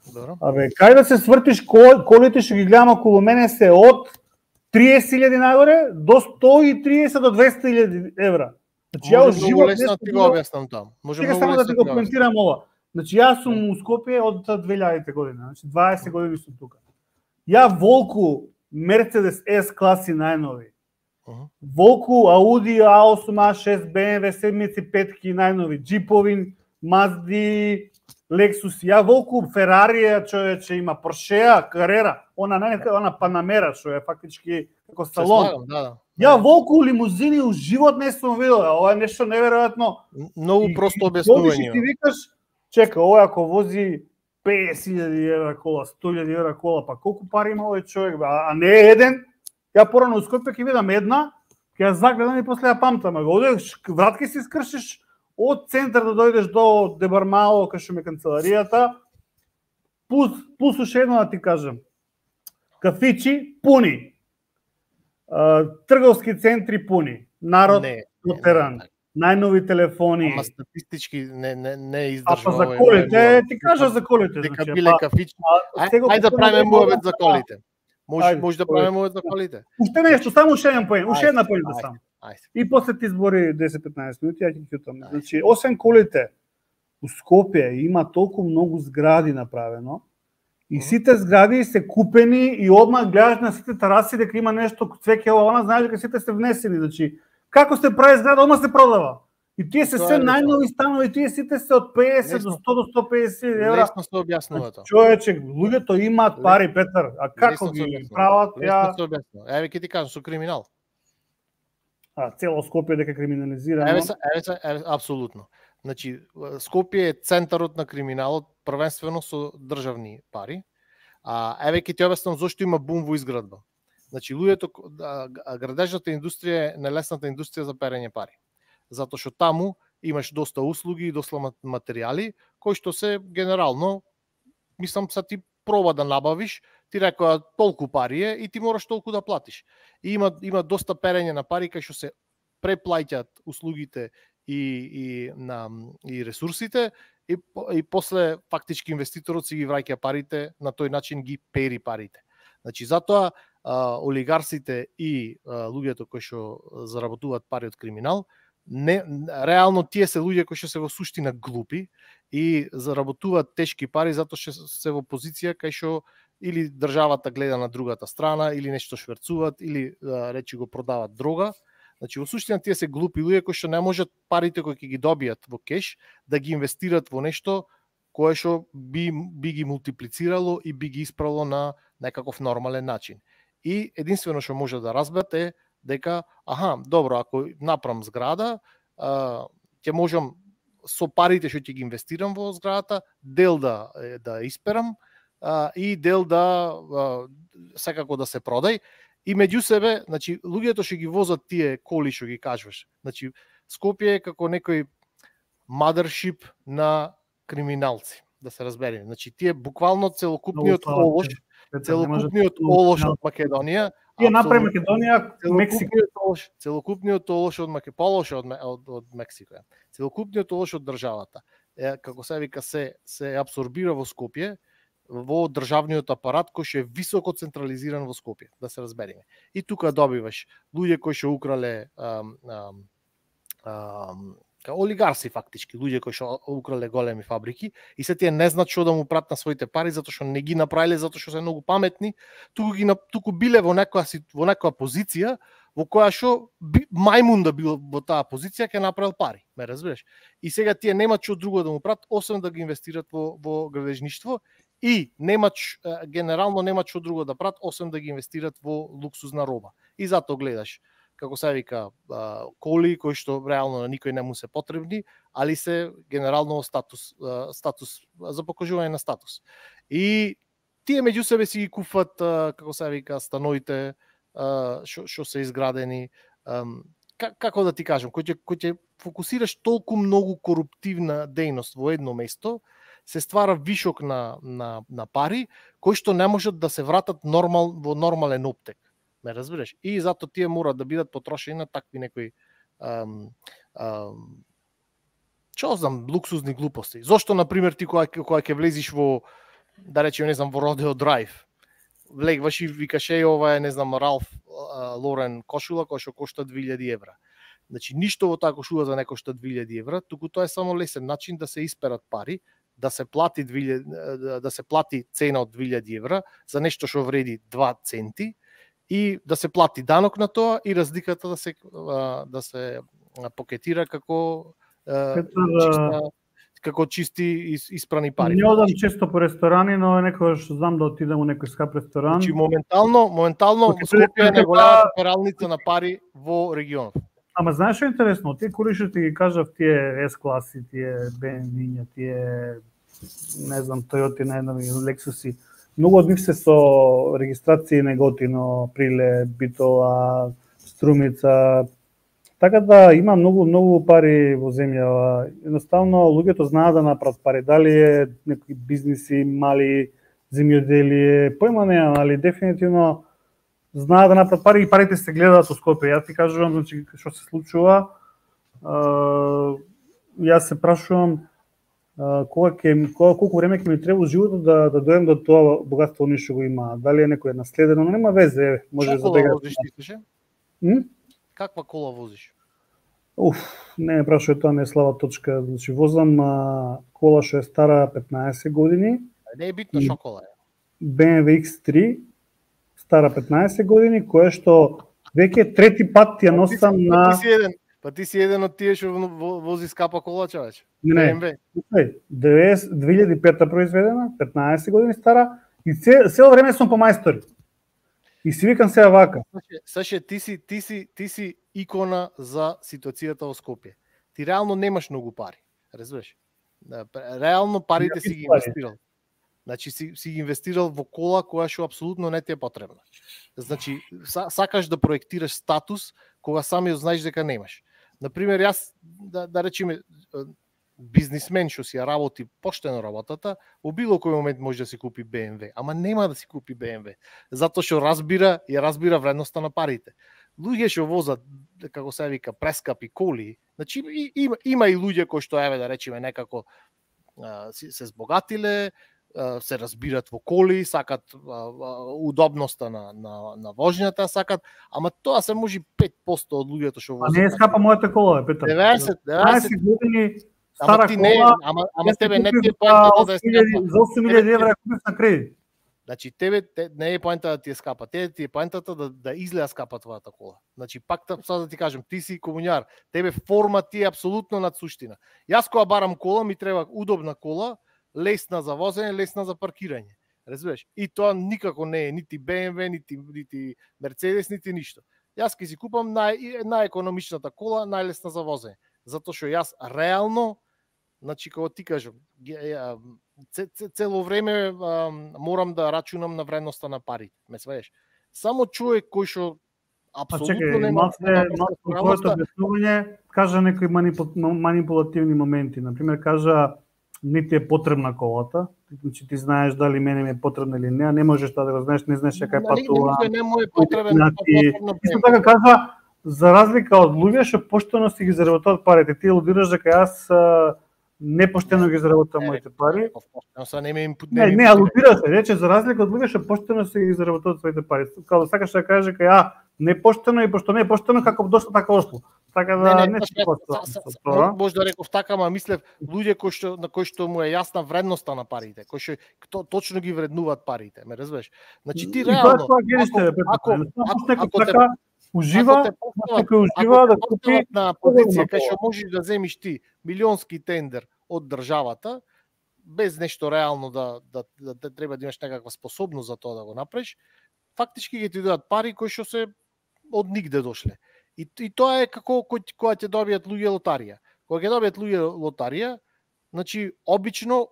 Добро. Абе, кај да се свртиш кол, колите што ги гледам околу мене се од триесет илјади нагоре до сто и триесет до двесте илјади евра. Значи ја живот лесно ти го објаснам таму. Може многу само да ти го коментирам ова. Значи јас сум у Скопје од две илјадите година, значи дваесет години сум тука. Ја волку Мерцедес С класи најнови. Uh-huh. Волку Ауди А осум, А шест, Б М В седмици петки најнови, джипови, Мазди, Лексус, ја волку Ферарија, човече има Поршеа, Карера, она не она Панамера што е фактички како салон. Слагам, да, да. Ја волку лимузини у живот не сум видел, ова е нешто неверојатно. Многу просто објаснување. Ти викаш, чека, ова ако вози песет илјади евра кола, сто илјади евра кола, па колку пари има овој човек, а не е еден. Ја порано у Скопје ќе видам една, ќе ја загледам и после ја памтам, го одеш вратки си скршиш од центар да дојдеш до Дебармао, кај што ме канцеларијата, пус, пус уште едно да ти кажам. Кафичи пуни, трговски центри пуни, народ дотеран, најнови телефони. Ама статистички не не не издржува. А па за колите, ти кажа за колите, дека биле кафичи. Ајде да правиме муавет за колите. Може може да правиме муавет за колите. Уште нешто, само уште еден поен, уште една поента само. И после ти избори десет-петнаесет минути, ја ќе ќе Значи, освен колите, у Скопје има толку многу згради направено, и сите згради се купени и одмah гледаш на сите тераси дека има нешто цвеќе ова, она знаеш дека сите се внесени, значи како се прави зграда, одмah се продава. И тие се се најнови станови, тие сите се од песет до сто до сто песет евра. Лесно се објаснува тоа. Човече, луѓето имаат пари, Петар, а како ги прават ја? Лесно се објаснува. Еве ќе ти кажам, со криминал. А цело Скопје дека криминализирано. Еве се, еве се, еве, апсолутно. Значи, Скопје е центарот на криминалот, првенствено со државни пари. А еве ќе ти објаснам зошто има бум во изградба. Значи, луѓето, градежната индустрија е нелесната индустрија за перење пари. Затоа што таму имаш доста услуги и доста материјали кои што се генерално, мислам, са ти проба да набавиш, ти рекоа толку пари е и ти мораш толку да платиш. И има има доста перење на пари кај што се преплаќаат услугите и и на и ресурсите и и после фактички инвеститорот си ги враќа парите, на тој начин ги пери парите. Значи затоа а, олигарсите и а, луѓето кои што заработуваат пари од криминал, не реално тие се луѓе кои што се во суштина глупи и заработуваат тешки пари затоа што се во позиција кај што или државата гледа на другата страна, или нешто шверцуваат, или речи го продават дрога. Значи во суштина тие се глупи луѓе кои што не можат парите кои ќе ги добијат во кеш да ги инвестираат во нешто кое што би би ги мултиплицирало и би ги исправило на некаков нормален начин. И единствено што може да разберат е дека аха, добро, ако направам зграда, ќе можам со парите што ќе ги инвестирам во зградата, дел да да исперам и дел да секако да се продај. И меѓу себе, значи, луѓето што ги возат тие коли што ги кажуваш. Значи, Скопје е како некој mothership на криминалци, да се разбереме. Значи, тие буквално целокупниот олош, целокупниот олош од Македонија, тие направи Македонија, Мексико. Целокупниот олош од Македонија, полош од, од, од Мексико. Целокупниот олош од државата, е, како се вика, се се апсорбира во Скопје, во државниот апарат кој што е високо централизиран во Скопје, да се разбереме. И тука добиваш луѓе кои што украле ам, ам, ам, олигарси фактички, луѓе кои што украле големи фабрики и се тие не знаат што да му прат на своите пари затоа што не ги направиле затоа што се многу паметни, туку ги туку биле во некоја во некоја позиција во која што мајмун да бил во таа позиција ќе направил пари, ме разбираш? И сега тие немаат што друго да му прат освен да ги инвестират во во градежништво и немаат генерално немаат што друго да прат освен да ги инвестират во луксузна роба. И затоа гледаш како се вика, коли кои што реално на никој не му се потребни, али се генерално статус, статус за покажување на статус. И тие меѓу себе си ги куфат, како се вика, становите што што се изградени. Како да ти кажам, кој ќе кој ќе фокусираш толку многу коруптивна дејност во едно место, се ствара вишок на на на пари кои што не можат да се вратат нормал во нормален оптек. Ме разбираш? И затоа тие мора да бидат потрошени на такви некои ам, ам, што знам, луксузни глупости. Зошто, например, ти кога кога ќе влезиш во, да речеме, не знам, во Родео Драйв, влегваш и викаш е ова е, не знам, Ралф Лорен кошула која што кошта две илјади евра. Значи ништо во таа кошула за не кошта две илјади евра, туку тоа е само лесен начин да се исперат пари, да се плати две илјади, да се плати цена од две илјади евра за нешто што вреди два центи. И да се плати данок на тоа и разликата да се да се покетира како Петар, чиста, како чисти испрани пари. Не одам често по ресторани, но некогаш знам да отидам во некој скап ресторан. Значи моментално, моментално Скопје е најголемата пералница на пари во регионот. Ама знаеш што е интересно? Тие кои што ти ги кажав, тие S-класи, тие Б М В, тие не знам, Toyota, не знам, Lexusi, многу од нив се со регистрации Неготино, Прилеп, Битола, Струмица. Така да има многу многу пари во земјава. Едноставно луѓето знаат да направат пари. Дали е некои бизниси, мали земјоделие, појма немам, али дефинитивно знаат да направат пари и парите се гледаат во Скопје. Јас ти кажувам, значи што се случува. Јас се прашувам кога ќе кога колку време ќе ми треба животот да да дојдем до тоа богатство ни што го има. Дали е некој наследено, но нема везе, може за да возиш ти. М? Каква кола возиш? Уф, не ме прашувај, тоа не е слаба точка. Значи возам а, кола што е стара петнаесет години. Не е битно што кола е. Б М В Икс три стара петнаесет години, која што веќе трети пат ја носам на Па ти си еден, па ти си еден од тие што вози скапа кола, човече. Не, не. две илјади и пета произведена, петнаесет години стара и се цело време сум по мајстори. И си викам сега вака. Саше, ти си ти си ти си икона за ситуацијата во Скопје. Ти реално немаш многу пари, разбираш? Реално парите си ги инвестирал. Значи си си ги инвестирал во кола која што апсолутно не ти е потребна. Значи сакаш да проектираш статус кога самиот знаеш дека немаш. Например, јас да, да речеме бизнисмен што си ја работи поштено работата, во било кој момент може да си купи Б М В, ама нема да си купи Б М В, затоа што разбира, ја разбира вредноста на парите. Луѓе што возат, како се вика, прескапи коли, значи има, има и луѓе кои што еве да речеме некако се збогатиле, се разбират во коли, сакат удобноста на на на вожњата, сакат, ама тоа се може пет посто од луѓето што возат. А не е скапа мојата кола, Петар. деветдесет деветдесет години стара ти не, кола. ама ама тебе не ти е поента да е скапа. За осум илјади евра купиш на кредит. Значи тебе те, не е поента да ти е скапа, тебе ти е поентата да да изгледа скапа твојата кола. Значи пак сега да ти кажам, ти си комуњар, тебе форма ти е апсолутно над суштина. Јас кога барам кола ми треба удобна кола, лесна за возење, лесна за паркирање. Разбираш? И тоа никако не е нити Б М В, нити нити Мерцедес, нити ништо. Јас ќе си купам нај најекономичната кола, најлесна за возење, затоа што јас реално, значи кога ти кажам, цело време морам да рачунам на вредноста на парите. Ме сваеш? Само човек кој што апсолутно нема твоето објаснување кажа некои манипулативни моменти. Например, кажа не ти е потребна колата, значи ти знаеш дали мене ми е потребна или не, а не можеш тоа да го знаеш, не знаеш кај патува. Не, не, не му е потребен. Исто така кажа, за разлика од луѓе што поштено си ги заработуваат парите. Ти лудираш дека јас непоштено ги заработувам моите пари. Не, не, алудира се, рече за разлика од луѓе што поштено си ги заработуваат своите пари. Као сакаш да кажеш дека ја непоштено и пошто не е поштено како дошло така ошло. Така да не, не, не се може да реков така, ама мислев луѓе кои што на кои што му е јасна вредноста на парите, кои што кто точно ги вреднуваат парите, ме разбираш? Значи ти реално ако ако така ужива, некој ужива да купи на позиција кај што можеш да земиш ти милионски тендер од државата без нешто реално да да да, да треба да имаш некаква способност за тоа да го направиш, фактички ги ти дадат пари кои што се од нигде дошле. И, и тоа е како кога ќе добијат луѓе лотарија. Кога ќе добијат луѓе лотарија, значи обично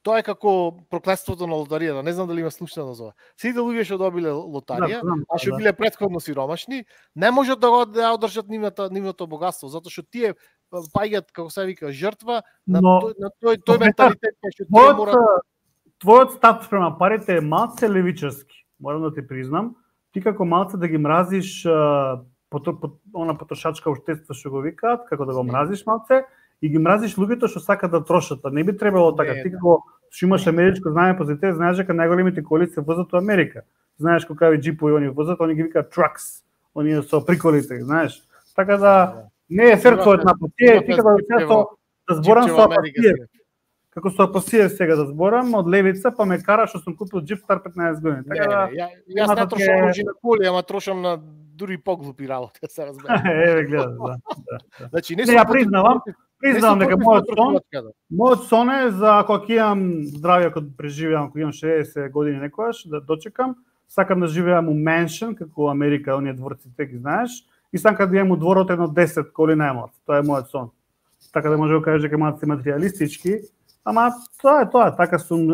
тоа е како проклетството на лотаријата. Не знам дали има слушано за ова. Сите луѓе што добиле лотарија, да, а што да. биле претходно сиромашни, не можат да го да одржат нивното нивното богатство, затоа што тие паѓаат како се вика жртва на но, тој на тој тој менталитет што тие мора. Твојот став спрема парите е малце левичарски. Морам да ти признам, ти како малце да ги мразиш Пото, по, она потрошачка оштество што го викаат, како да го мразиш малце, и ги мразиш луѓето што сакаат да трошат. Не би требало така. Ти како што имаш америчко знание позитив, знаеш дека најголемите коли се возат во Америка. Знаеш колкави џипови они возат, они ги викаат trucks. Они со приколите, знаеш. Така да не е фер твојот напад. Ти ти како да зборам со апатија. Како со апатија сега да зборам од левица, па ме кара што сум купил џип стар петнаесет години. Така да јас не трошам на коли, ама трошам на дури поглупи работи, се разбира. Еве гледа, да. да. Значи не ја признавам, признавам дека мојот сон, мојот сон е за кога ќе имам здравје, кога преживеам, кога имам шеесет години некогаш, да дочекам, сакам да живеам у меншен, како Америка, оние дворците ги знаеш, и сакам да имам у дворот едно десет коли најмлад. Тоа е мојот сон. Така да може да кажеш дека малку материјалистички, ама тоа е тоа, така сум,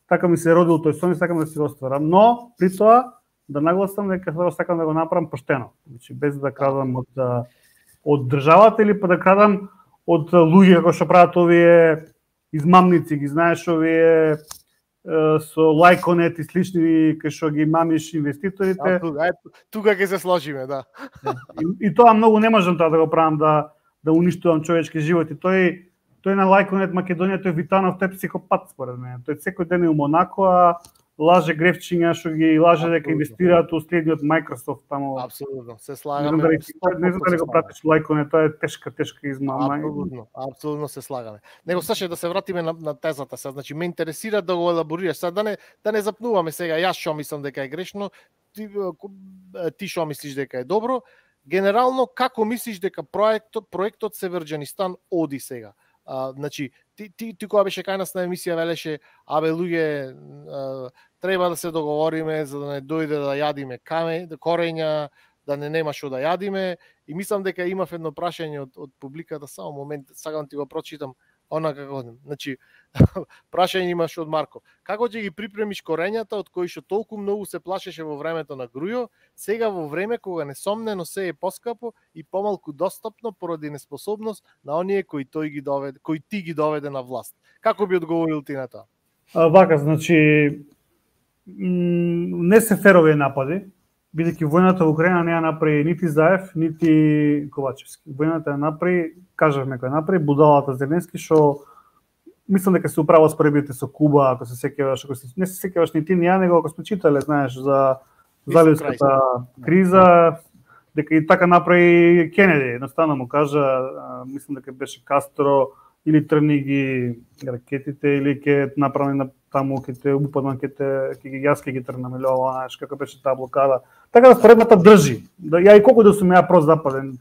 така ми се родил тој сон и сакам да си го остварам, но при тоа да нагласам дека сакам да го направам поштено, значи без да крадам од од државата или па да крадам од луѓе кои што прават овие измамници, ги знаеш овие со лајконет и слични кај што ги мамиш инвеститорите. Тука, тука ќе се сложиме, да. И, и тоа многу не можам тоа да го правам да да уништувам човечки живот и тој тој на лајконет Македонија, тој Витанов, тој психопат според мене. Тој секој ден е у Монако, а лаже грефчиња што ги лаже дека инвестираат у следниот Microsoft таму. Апсолутно, се слагаме. Не знам дали го пратиш лајконе, тоа е тешка, тешка измама. Апсолутно, апсолутно се слагаме. Него слушај да се вратиме на, на тезата сега, значи ме интересира да го елаборираш. Сега да не да не запнуваме сега јас што мислам дека е грешно, ти ти што мислиш дека е добро. Генерално како мислиш дека проектот проектот Северџанистан оди сега? А, значи, ти, ти, ти кога беше кај нас на емисија велеше, абе луѓе, а, треба да се договориме за да не дојде да јадиме каме, корења, да не нема што да јадиме. И мислам дека имав едно прашање од, од публиката, само момент, сакам ти го прочитам, она како, значи, прашање имаш од Марко. Како ќе ги припремиш корењата од кои што толку многу се плашеше во времето на Грујо, сега во време кога несомнено се е поскапо и помалку достапно поради неспособност на оние кои тој ги доведе, кои ти ги доведе на власт. Како би одговорил ти на тоа? А, вака, значи не се ферови напади, бидејќи војната во Украина не ја направи нити Заев, нити Ковачевски. Војната ја направи, кажавме кој ја направи, будалата Зеленски, што мислам дека се управо споредбите со Куба, ако се сеќаваш, ако се не се сеќаваш ни ти ни ја, него ако сме читале, знаеш, за заливската криза, дека и така направи Кенеди, едноставно му кажа, мислам дека беше Кастро или трни ги ракетите или ќе направи на таму ќе те упаднат, ќе те ќе ги јас ќе ги трнам или ова, знаеш, како беше таа блокада. Така да споредбата држи. Да ја и колку да сум ја прозападен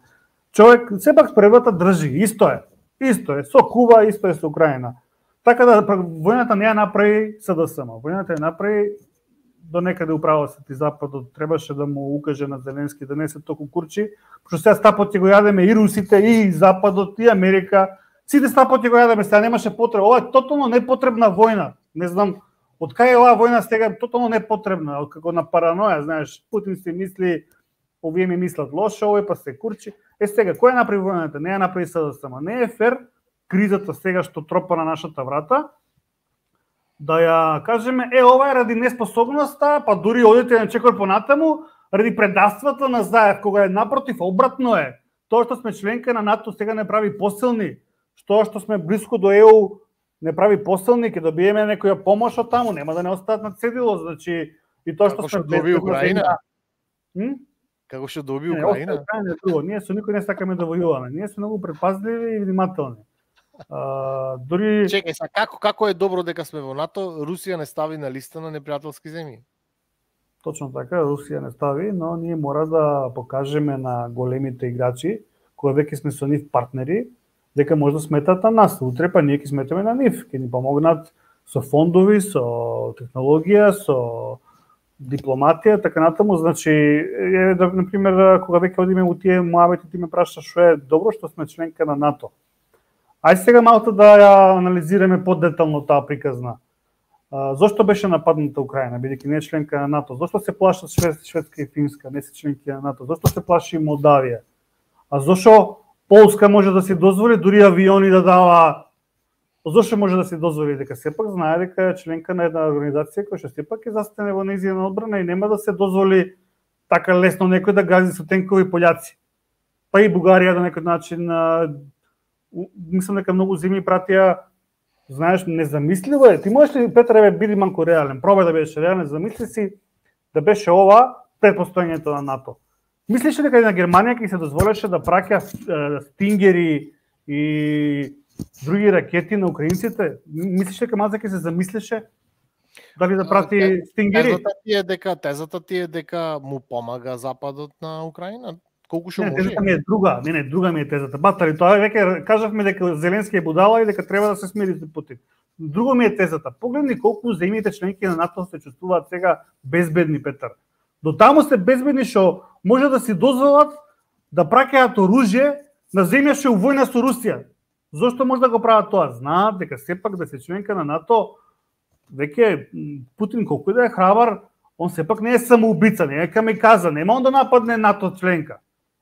човек, сепак споредбата држи, исто е. Исто е со Куба, исто е со Украина. Така да војната не ја направи СДСМ, војната ја направи до некаде управо се ти Западот, требаше да му укаже на Зеленски да не се толку курчи, пошто сега стапот ќе го јадеме и русите, и Западот, и Америка, сите стапот ќе го јадеме, сега немаше потреба. Ова е тотално непотребна војна. Не знам од кај е оваа војна сега тотално непотребна, како на параноја, знаеш, Путин си мисли, овие ми мислат лошо, овој па се курчи. Е сега, кој ја направи војната? Не ја направи СДСМ. Не е фер кризата сега што тропа на нашата врата, да ја кажеме, е, ова е ради неспособноста, па дури одите на чекор понатаму, ради предавствата на Заев, кога е напротив, обратно е. Тоа што сме членка на НАТО сега не прави посилни, што што сме близко до Е У не прави посилни, ќе добиеме некоја помош од таму, нема да не остаат на цедило, значи и тоа што сме доби Украина. Hm? Како што доби Украина? Не, не, ние со никој не сакаме да војуваме. Ние сме многу предпазливи и внимателни. Uh, дури Чекај, са како како е добро дека сме во НАТО, Русија не стави на листа на непријателски земји. Точно така, Русија не стави, но ние мора да покажеме на големите играчи, кои веќе сме со нив партнери, дека може да сметат на нас. Утре па ние ќе сметаме на нив, ќе ни помогнат со фондови, со технологија, со дипломатија, така натаму. Значи, е, да, например, кога веќе одиме у тие муабети, ти ме прашаш што е добро што сме членка на НАТО. Ајде сега малку да ја анализираме подетално таа приказна. А, зошто беше нападната Украина, бидејќи не е членка на НАТО? Зошто се плашат Швед, Шведска и Финска, не се членки на НАТО? Зошто се плаши Молдавија? А зошто Полска може да си дозволи дури авиони да дава? Зошто може да си дозволи? Дека сепак знае дека е членка на една организација која што сепак е застане во нејзина одбрана и нема да се дозволи така лесно некој да гази со тенкови пољаци. Па и Бугарија на некој начин, мислам дека многу земји пратија, знаеш, незамисливо е. Ти можеш ли, Петре, биди малку реален, пробај да бидеш реален, замисли си да беше ова пред постоењето на НАТО. Мислиш ли дека и на Германија ќе се дозволеше да праќа стингери и други ракети на украинците? Мислиш дека маза ќе се замислеше дали да прати стингери? Тезата ти е дека тезата ти е дека му помага Западот на Украина. Колку што може? Тезата ми е друга, не, не, друга ми е тезата. Батари, тоа веќе кажавме дека Зеленски е будала и дека треба да се смири со Путин. Друго ми е тезата. Погледни колку земјите членки на НАТО се чувствуваат сега безбедни, Петар. До таму се безбедни што може да си дозволат да праќаат оружје на земја што е у војна со Русија. Зошто може да го прават тоа? Знаат дека сепак да се членка на НАТО, веќе Путин колку и да е храбар, он сепак не е самоубица, не е камиказа, нема он да нападне НАТО членка.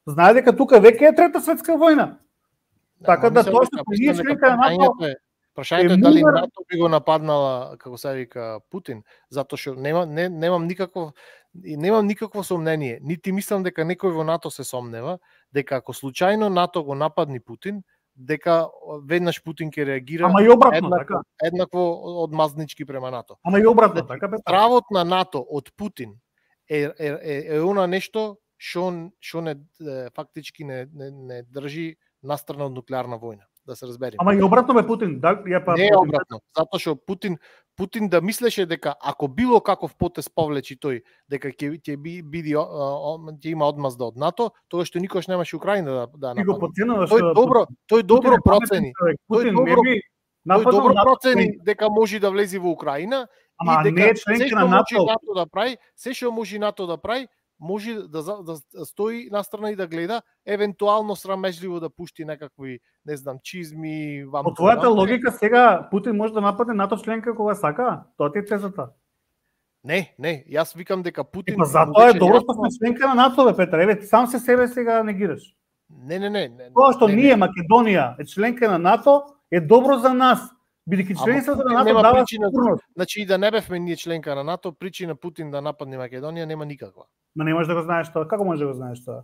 Знае дека тука веќе е трета светска војна. Така да тоа што ние членка на НАТО, прашањето е дали НАТО би го нападнала, како се вика, Путин, затоа што нема не, немам никакво немам никакво сомнение, нити мислам дека некој во НАТО се сомнева дека ако случајно НАТО го нападни Путин, дека веднаш Путин ќе реагира. Ама и обратно, еднакво, така. Еднакво одмазнички према НАТО. Ама и обратно, така бе. Правот на НАТО од Путин е е е, е она нешто што што не фактички не не, не држи настрана од нуклеарна војна, да се разбереме. Ама и обратно бе Путин, да, ја па не е обратно, затоа што Путин Путин да мислеше дека ако било каков потез повлечи тој, дека ќе ќе биде ќе има одмазда од НАТО, тоа што никош немаше Украина да да нападне. Тој добро, тој добро процени. Тој добро Тој добро процени дека може да влезе во Украина и дека не е членка на НАТО. НАТО да прави, се што може НАТО да прави, може да, да стои настрана и да гледа, евентуално срамежливо да пушти некакви, не знам, чизми, вам. По твојата логика сега Путин може да нападне НАТО членка кога сака? Тоа ти е тезата. Не, не, јас викам дека Путин... Епа затоа е добро што сме членка на НАТО, бе, Петре. Еве, сам се себе сега негираш. Не, не, не. не Тоа што не, ние, не. Македонија, е членка на НАТО, е добро за нас. Бидејќи членството на НАТО дава сигурност. Значи и да не бевме ние членка на НАТО, причина Путин да нападне Македонија нема никаква. Ма не можеш да го знаеш тоа. Како можеш да го знаеш тоа?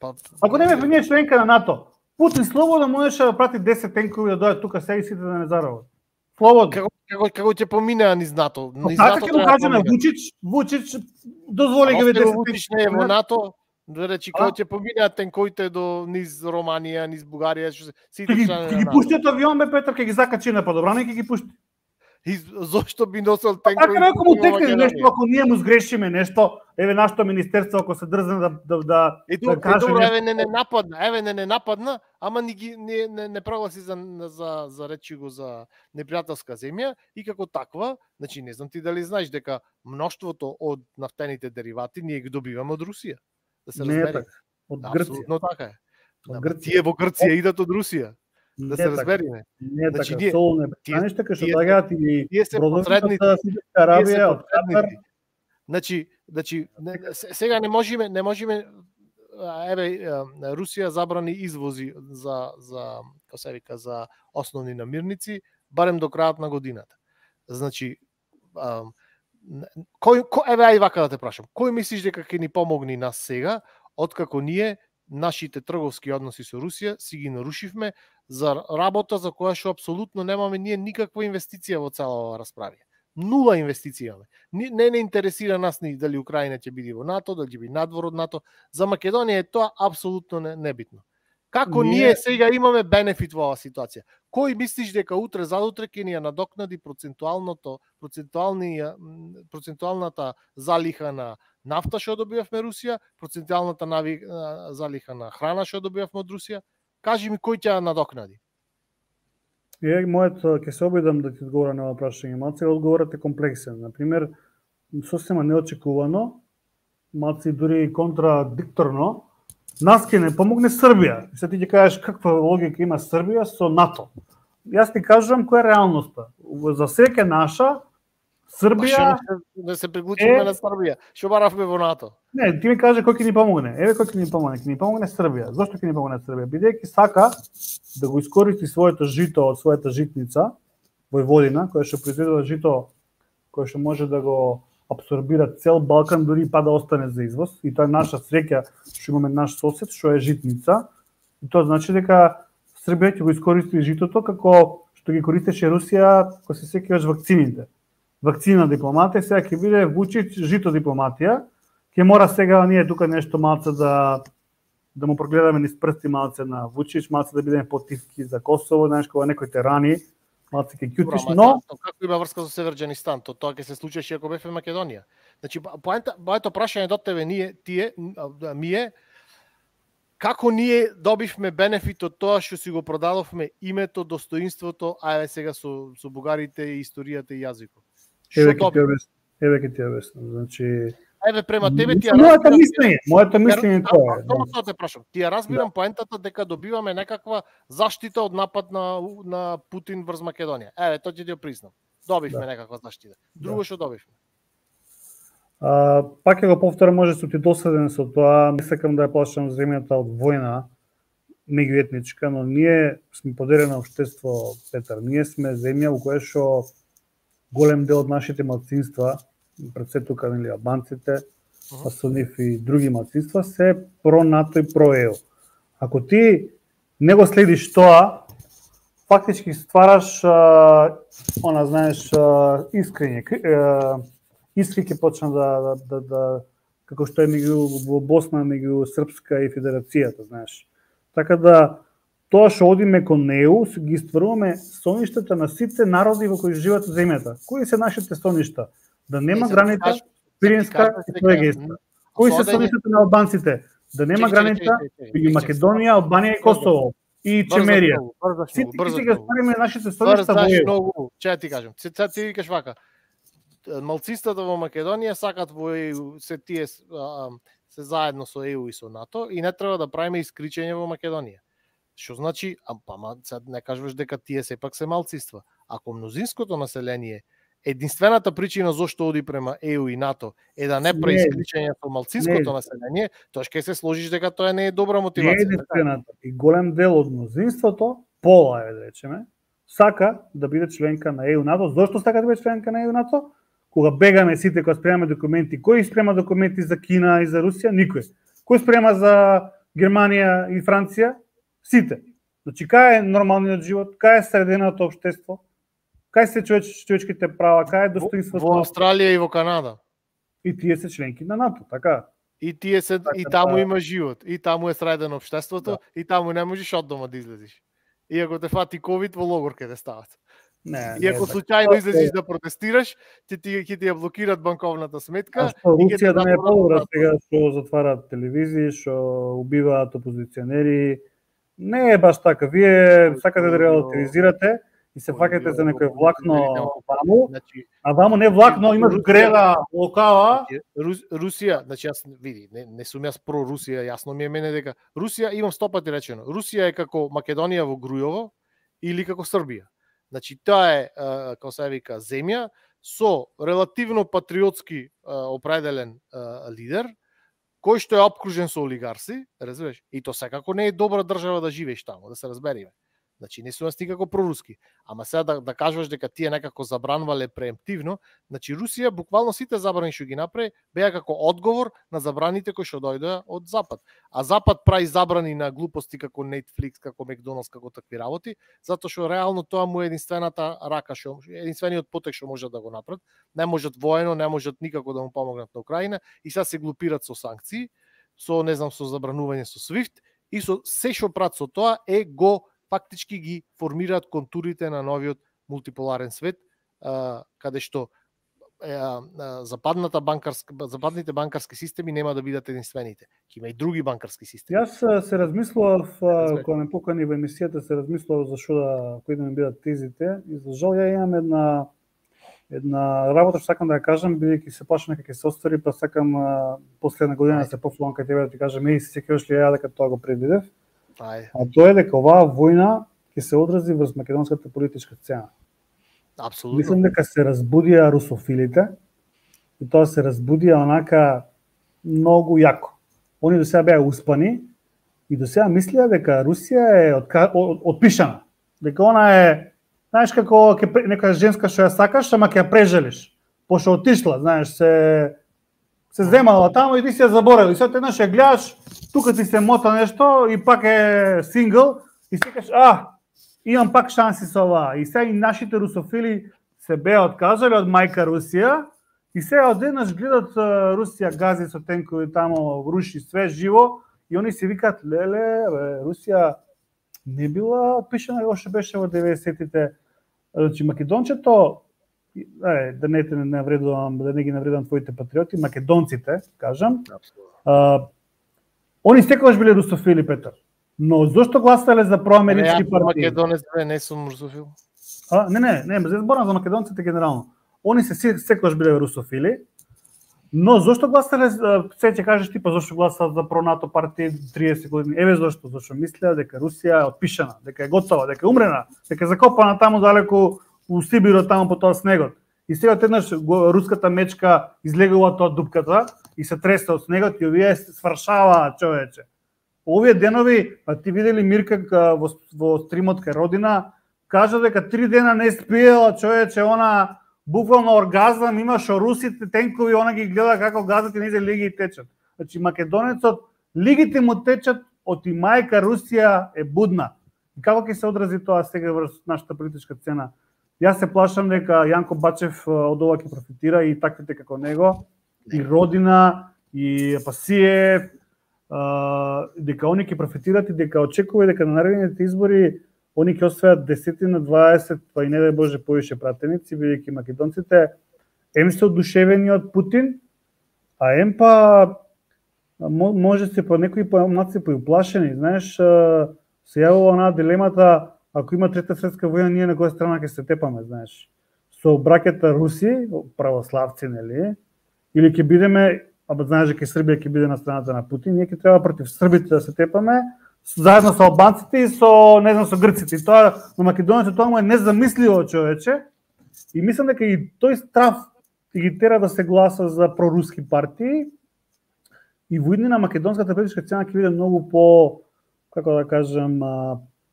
Па, ако не бевме ние членка на НАТО, Путин слободно можеше да прати десет тенкови да дојдат тука сега и сите да не заробат. Слободно. Како како како ќе поминеа низ НАТО? Низ Така НАТО ќе му кажеме Вучич, Вучич дозволи ги десет Вучич не е во НАТО. Речи А? како ќе поминеат тенковите до низ Романија, низ Бугарија, што се- сите Ќе ги, чланови ќе на ги НАТО. пушти од авион бе Петар, ќе ги закачи на подобране и ќе ги пушти. И зошто би носел тенкови? Така ако му во текне Македонија? нешто, ако ние му сгрешиме нешто, еве нашето министерство ако се дрзне да да да, И да добро, каже добро, нешто. еве не не нападна, еве не не нападна, ама ни ги не не, не прогласи за за за речи го за непријателска земја и како таква, значи не знам ти дали знаеш дека мноштвото од нафтените деривати ние ги добиваме од Русија. Да се Не е разбере. така. Од Грција. Апсолутно така е. Од Ама Грција. тие во Грција идат од Русија. Да Не се така. разбериме. Не е Значи, така. ние- Солуне тие- пристаништа кај што тие се- доаѓаат и Тие се бродовите посредници. од Саудитска Тие се Арабија, од Катар. посредници. Значи, значи не- се- сега не можеме, не можеме а, еве а, Русија забрани извози за за како се вика за основни намирници барем до крајот на годината. Значи а, н- кој, кој еве ај вака да те прашам. Кој мислиш дека ќе ни помогне нас сега откако ние нашите трговски односи со Русија си ги нарушивме за работа за која што апсолутно немаме ние никаква инвестиција во цела оваа расправа. Нула инвестиција имаме. Ни- Не не интересира нас ни дали Украина ќе биде во НАТО, дали ќе биде надвор од НАТО. За Македонија е тоа апсолутно не, небитно. Како ние... Ние- ние сега имаме бенефит во оваа ситуација? Кој мислиш дека утре задутре ќе ни ја надокнади процентуалното процентуалниот процентуалната залиха на нафта што добивавме Русија, процентуалната нави, а, залиха на храна што добивавме од Русија? Кажи ми кој ќе ја надокнади? Ја мојот ќе се обидам да ти одговорам на ова прашање. Малце одговорот е комплексен. На пример, сосема неочекувано, малце дури контрадикторно, нас ќе не помогне Србија. И се ти ќе кажеш каква логика има Србија со НАТО. Јас ти кажувам која е реалноста. За среќа наша, Србија... Да се приклучиме е- на Србија. Што баравме во НАТО? Не, ти ми кажа кој ќе ни помогне. Еве кој ќе ни помогне. Ќе ни помогне Србија. Зошто ќе ни помогне Србија? Бидејќи сака да го искористи своето жито од својата житница, Војводина, која што произведува жито кој што може да го апсорбира цел Балкан, дури и па да остане за извоз. И тоа е наша среќа што имаме наш сосед, што е житница. И тоа значи дека Србија ќе го искористи житото како што ги користеше Русија кога се сеќаваш вакцините. Вакцина дипломатија, сега ќе биде Вучич жито дипломатија. Ќе мора сега ние тука нешто малце да да му прогледаме низ прсти малце на Вучич, малце да бидеме потивки за Косово, знаеш кога некој те рани, малце ќе Добро, ќутиш, ама но тоа како има врска со Северџанистан? То тоа ќе се случеше ако бевме Македонија. Значи поента моето прашање до тебе ние тие а, ми е како ние добивме бенефит од тоа што си го продадовме името, достоинството, а еве сега со со бугарите и историјата и јазикот. еве Што ќе ти добивме? објаснам. Еве ќе ти објаснам. Значи, Еве према тебе ти ја моето разбирам- мислење, моето мислење тоа е. Само тоа те прашам. Ти ја разбирам поентата дека добиваме некаква заштита од напад на на Путин врз Македонија. Еве, тоа ќе ти ја признам. Добивме Да. некаква заштита. Друго што добивме? А, пак ќе го повторам, може сум ти досаден со тоа, не сакам да ја плашам земјата од војна меѓуетничка, но ние сме поделено општество, Петар. Ние сме земја во која што голем дел од нашите малцинства, пред се тука нели албанците, па со нив и други малцинства се про НАТО и про ЕУ. Ако ти не го следиш тоа, фактички ствараш а, она знаеш а, искрење, а, искри ќе почна да, да, да, да како што е меѓу во Босна меѓу Српска и Федерацијата, знаеш. Така да тоа што одиме кон ЕУ, ги стваруваме соништата на сите народи во кои живеат земјата. Кои се нашите соништа? Да нема Е, за да граница кажеш- Пиринска да ти и кажам Троегејска. сега, Кои се одење- соништата на албанците? Да нема Чекај, чекај, граница чекај, чекај, меѓу чекај, Македонија, Албанија и Косово и Брзаш Чемерија. многу, брзаш Сите многу, брзаш ќе ги многу. ствариме нашите соништа во Брзаш ЕУ. многу. Чеја ти кажам. Сега ти викаш вака. Малцинствата во Македонија сакат во ЕУ, се тие а, се заедно со ЕУ и со НАТО и не треба да правиме исклучење во Македонија. Што значи, а па ма, сега не кажуваш дека тие сепак се малцинства. Ако мнозинското население единствената причина зошто оди према ЕУ и НАТО е да не прави Не. исклучење со малцинското Не. население, тоа ќе се сложиш дека тоа не е добра Не е мотивација. така? единствената. И голем дел од мнозинството, пола е да речеме, сака да биде членка на ЕУ НАТО. Зошто сака да биде членка на ЕУ НАТО? Кога бегаме сите, кога спремаме документи, кој спрема документи за Кина и за Русија? Никој. Кој спрема за Германија и Франција? Сите. Значи, кај е нормалниот живот? Кај е среденото општество? кај се човеч, човечките права, кај е достоинството? Во Австралија и во Канада. И тие се членки на НАТО, така? И тие се така, и таму да. има живот, и таму е средено општеството, да. И таму не можеш од дома да излезеш. И ако те фати ковид, во логор ќе те стават. Не, И ако не, случајно така. излезеш да протестираш, ќе ти ќе ти ја блокираат банковната сметка. А што и ќе те Русија да не е запорат подобра на сега што затварат телевизии, што убиваат опозиционери. Не е баш така. Вие сакате да релативизирате и се фаќате за некој влакно ваму, Значи, а ваму не влакно, имаш греда локала. Рус, Русија, значи јас види, не, не сум јас про Русија, јасно ми е мене дека Русија, имам сто пати речено, Русија е како Македонија во Грујово или како Србија. Значи тоа е, како се вика, земја со релативно патриотски определен лидер, кој што е опкружен со олигарси, разбираш? И то секако не е добра држава да живееш таму, да се разбериме. Значи не сум јас никако проруски. Ама сега да, да кажуваш дека тие некако забранувале преемптивно, значи Русија буквално сите забрани што ги направи беа како одговор на забраните кои што дојдоа од Запад. А Запад прави забрани на глупости како Netflix, како Макдоналдс, како такви работи, затоа што реално тоа му е единствената рака што единствениот потек што можат да го направат. Не можат воено, не можат никако да му помогнат на Украина и сега се глупират со санкции, со не знам со забранување со SWIFT и со се што прат со тоа е го фактички ги формираат контурите на новиот мултиполарен свет, каде што западната банкарска, западните банкарски системи нема да бидат единствените. Ќе има и други банкарски системи. Јас се размислував, кога ме покани во емисијата, се размислував за што да, кои да ми бидат тезите, и за жал ја имам една една работа што сакам да ја кажам, бидејќи се плашам дека ќе се оствари, па сакам последна година да се пофлувам кај тебе да ти кажам, еј, се сеќаваш ли ја дека тоа го предвидев? Ај. А тоа е дека оваа војна ќе се одрази врз македонската политичка сцена. Апсолутно. Мислам дека се разбудија русофилите и тоа се разбудија онака многу јако. Они до сега беа успани и до сега мислеа дека Русија е отка... отпишана. Дека она е, знаеш како ќе нека женска што ја сакаш, ама ќе ја прежелиш. Пошто отишла, знаеш, се се земала таму и ти се ја заборел. И сега еднаш ја гледаш, тука ти се мота нешто и пак е сингл и си кажеш, а, имам пак шанси со ова. И сега и нашите русофили се беа откажале од мајка Русија и сега одеднаш гледат Русија гази со тенкови таму, руши све живо и они си викаат, леле, бе, Русија не била отпишана още беше во деветдесетите. Значи македончето, е, да не те навредувам, да не ги навредувам твоите патриоти, македонците, кажам. А, они секогаш биле русофили, Петар. Но зошто гласале за проамерички партии? Македонец, не сум русофил. А, не, не, не, не зборам за македонците генерално. Они се секогаш биле русофили, но зошто гласале, се ќе кажеш ти, па зошто гласат за пронато партии триесет години? Еве зошто, зашто мислеа дека Русија е отпишана, дека е готова, дека е умрена, дека е закопана таму далеку у Сибиро, таму по тоа снегот. И сега еднаш руската мечка излегува тоа дупката и се тресе од снегот и овие свршаваат, човече. Овие денови, а ти видели Мирка во, во стримот кај Родина, кажа дека три дена не спиела, човече, она буквално оргазам имаше русите тенкови, она ги гледа како газат и незе лиги и течат. Значи македонецот лигите му течат од и мајка Русија е будна. И како ќе се одрази тоа сега врз нашата политичка сцена? Јас се плашам дека Јанко Бачев од ова ќе профитира и таквите како него, и Родина, и Пасиев, дека они ќе профитират и дека очекува дека на наредните избори они ќе освојат десетина, дваесет, па и не дај Боже повише пратеници, бидејќи македонците ем се одушевени од Путин, а ем па може се по некои помаци поуплашени, знаеш, се јавува онаа дилемата, ако има трета светска војна, ние на која страна ќе се тепаме, знаеш. Со браќата Руси, православци, нели, или ќе бидеме, а знаеш дека Србија ќе биде на страната на Путин, ние ќе треба против србите да се тепаме, заедно со албанците и со, не знам, со грците. И тоа на македонецот тоа му е незамисливо, човече. И мислам дека и тој страв ги тера да се гласа за проруски партии и во иднина македонската политичка сцена ќе биде многу по, како да кажам,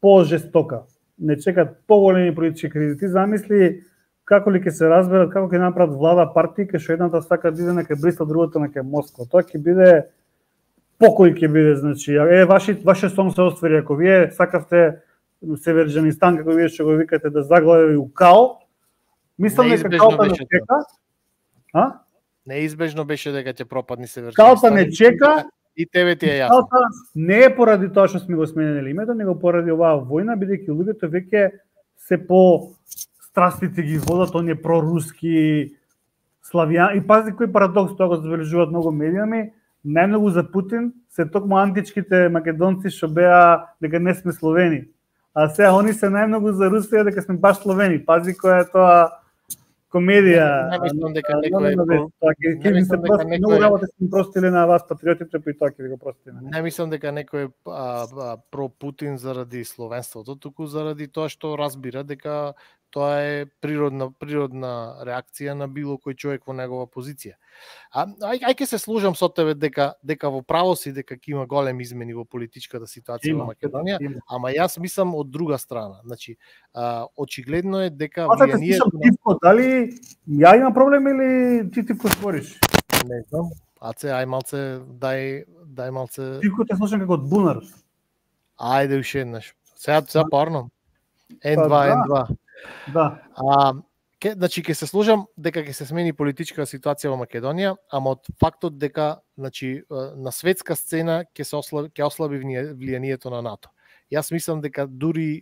по-жестока. Не чекат поголеми политички кредити. Замисли како ли ќе се разберат, како ќе направат влада партии, кај што едната сака да иде на кај Брисел, другата на кај Москва. Тоа ќе биде покој ќе биде, значи, е, ваши, ваше сон се оствари, ако вие сакавте Северџанистан, како вие што го викате, да заглави у као, Мислам дека Неизбежно калпа не беше чека. А? Неизбежно беше дека ќе пропадни Северчанистан. Калпа не чека. И тебе ти е јасно. Калпа не е поради тоа што сме го сменили името, него поради оваа војна, бидејќи луѓето веќе се по страстите ги водат, оние проруски, славијан. И пази кој парадокс, тоа го забележуваат многу медиуми, најмногу за Путин се токму античките македонци што беа дека не сме словени. А сега они се најмногу за Русија дека сме баш словени. Пази која е тоа комедија. Не мислам дека некој ќе ми се прости, многу работа сме простили на вас патриотите, па и тоа ќе ви го простиме. Не мислам дека некој е про Путин заради словенството, туку заради тоа што разбира дека тоа е природна природна реакција на било кој човек во негова позиција. А ај ај ќе се служам со тебе дека дека во право си дека ќе има големи измени во политичката ситуација во Македонија, има. Ама јас мислам од друга страна. Значи, а, очигледно е дека влијанието на Тивко, дали ја имам проблем или ти Тивко спориш? Не знам. Аце ај малце дај дај малце. Тивко те слушам како од бунар. Ајде уште еднаш. Сега сега порно. Ен два Ен два. Да. А, ке, значи ќе се служам дека ќе се смени политичка ситуација во Македонија, ама од фактот дека значи на светска сцена ќе се ослаби ќе ослаби влијанието на НАТО. Јас мислам дека дури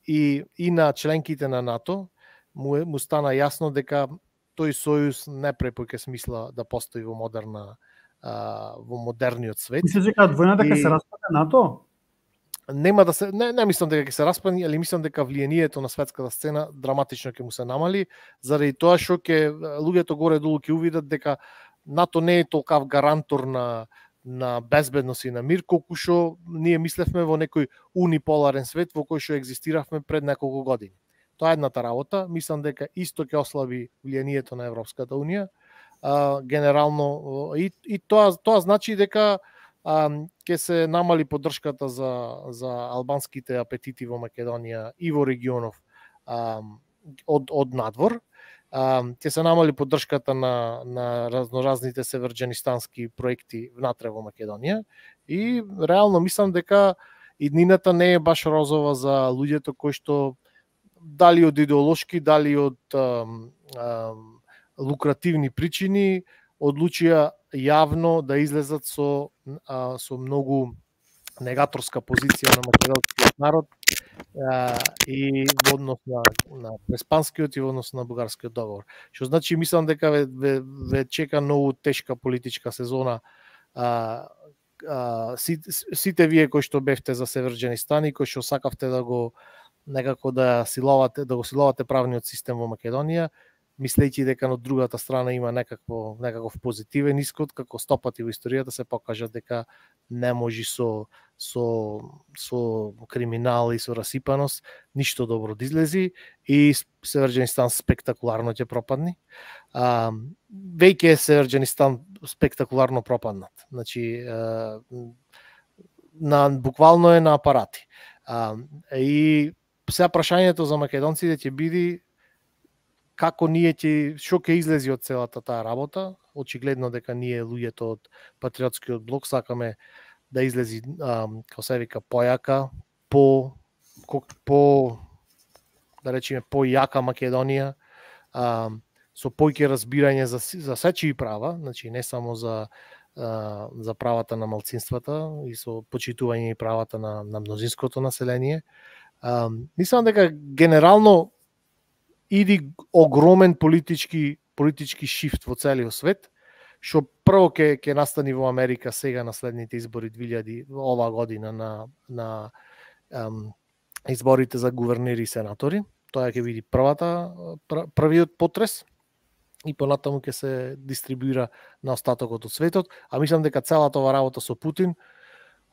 и и на членките на НАТО му, му стана јасно дека тој сојуз не препоќе смисла да постои во модерна а, во модерниот свет. Мислиш дека војната ќе се распадне НАТО? Нема да се не, не мислам дека ќе се распадне, али мислам дека влијанието на светската сцена драматично ќе му се намали, заради тоа што ќе луѓето горе долу ќе увидат дека НАТО не е толкав гарантор на на безбедност и на мир колку што ние мислевме во некој униполарен свет во кој што екзистиравме пред неколку години. Тоа е едната работа, мислам дека исто ќе ослаби влијанието на Европската унија. А, генерално и и тоа тоа значи дека а, ќе се намали поддршката за за албанските апетити во Македонија и во регионов а, од од надвор. Ќе се намали поддршката на на разноразните северџанистански проекти внатре во Македонија и реално мислам дека иднината не е баш розова за луѓето кои што дали од идеолошки, дали од а, а, лукративни причини одлучија јавно да излезат со а, со многу негаторска позиција на македонскиот народ а, и во однос на, на преспанскиот и во однос на бугарскиот договор. Што значи мислам дека ве, ве, ве чека многу тешка политичка сезона. А, а, сите, сите вие кои што бевте за Северџанистан и кои што сакавте да го некако да силовате, да го силовате правниот систем во Македонија, мислејќи дека на другата страна има некакво некаков позитивен исход, како стопати во историјата се покажа дека не може со со со криминал и со расипаност ништо добро да излези и Северџанистан спектакуларно ќе пропадне. А, веќе е Северџанистан спектакуларно пропаднат. Значи а, на буквално е на апарати. А, и сега прашањето за македонците ќе биде како ние ќе што ќе излези од целата таа работа. Очигледно дека ние луѓето од патриотскиот блок сакаме да излези а, како се вика појака, по по да речеме појака Македонија, а, со појќе разбирање за за сечии права, значи не само за а, за правата на малцинствата и со почитување и правата на на мнозинското население. А, мислам дека генерално иди огромен политички политички шифт во целиот свет, што прво ќе ќе настани во Америка сега на следните избори две илјади оваа година на на ем, изборите за гувернери и сенатори. Тоа ќе биде првата првиот потрес и понатаму ќе се дистрибуира на остатокот од светот, а мислам дека целата ова работа со Путин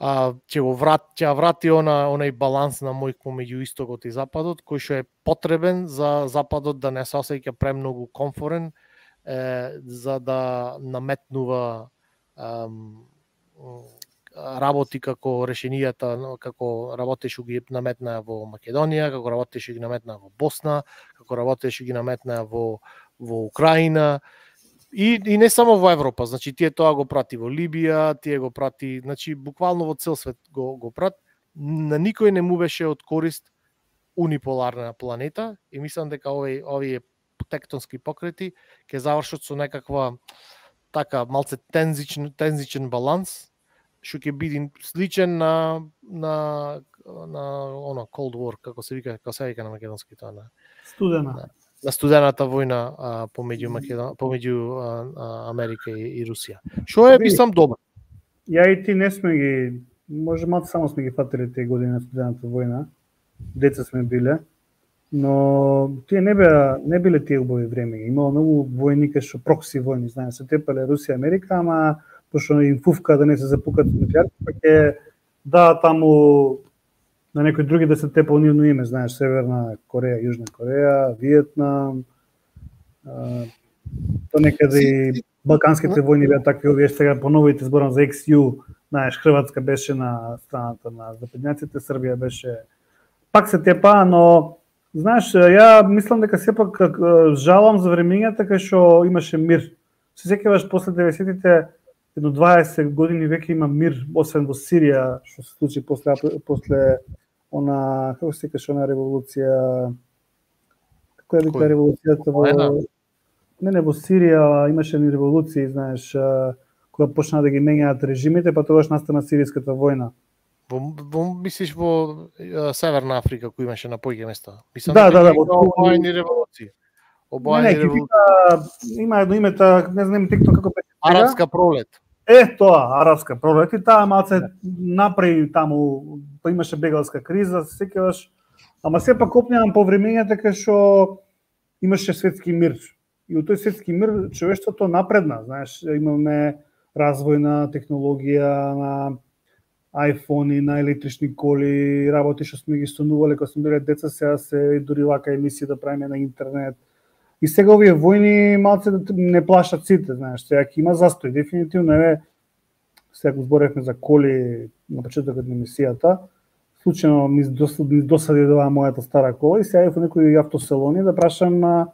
а, ќе го врат, ќе врати она онај баланс на мој помеѓу истокот и западот, кој што е потребен за западот да не се осеќа премногу комфорен, е, за да наметнува ем, работи како решенијата, како работеше ги наметнаа во Македонија, како работеше ги наметнаа во Босна, како работеше ги наметнаа во во Украина. И, и не само во Европа, значи тие тоа го прати во Либија, тие го прати, значи буквално во цел свет го го прат. На никој не му беше од корист униполарна планета и мислам дека овој овие тектонски покрети ќе завршат со некаква така малце тензичен тензичен баланс, што ќе биде сличен на на на оно Cold War, како се вика, како се вика на македонски тоа на Студена. На, на студената војна а, помеѓу Македон, помеѓу а, а, Америка и, и Русија. Што е мислам добро. Ја и ти не сме ги, може малку само сме ги фатили тие години на студената војна. Деца сме биле, но тие не беа не биле тие убави време. Имало многу војни кај што прокси војни, знаеш, се тепале Русија, Америка, ама пошто им фуфка да не се запукат нуклеарки, па ќе да таму на некои други да се тепа нивно име, знаеш, Северна Кореја, Јужна Кореја, Виетнам, а, то некаде и балканските војни беа такви, овие сега по новите зборам за екс ю, знаеш, Хрватска беше на страната на западњаците, Србија беше пак се тепа, но знаеш, ја мислам дека сепак жалам за времењата кај што имаше мир. Се сеќаваш после деветдесетите, едно дваесет години веќе има мир, освен во Сирија, што се случи после после она, како се викаше она револуција, како е вика револуцијата во не не во Сирија имаше ни револуции, знаеш, кога почна да ги менјаат режимите, па тогаш настана сиријската војна. Во, во мислиш во е, Северна Африка кој имаше на појќе места. Мислам Да, да, да, во во обојни револуции. Обојни не, не, револуции. има едно име, та, не знам текто како беше. Арапска пролет. Е, тоа, арапска пролет, и таа малце направи таму, па имаше бегалска криза, се сеќаваш, ама сепак опневам по времењата кај што имаше светски мир. И во тој светски мир човештвото напредна, знаеш, имаме развој на технологија, на айфони, на електрични коли, работи што сме ги сонувале кога сме биле деца, сега се дури вака емисии да правиме на интернет. И сега овие војни малце не плашат сите, знаеш, сега ќе има застој, дефинитивно е, сега го зборевме за коли на почетокот на емисијата, случајно ми досади да мојата стара кола и сега во некои автосалони да прашам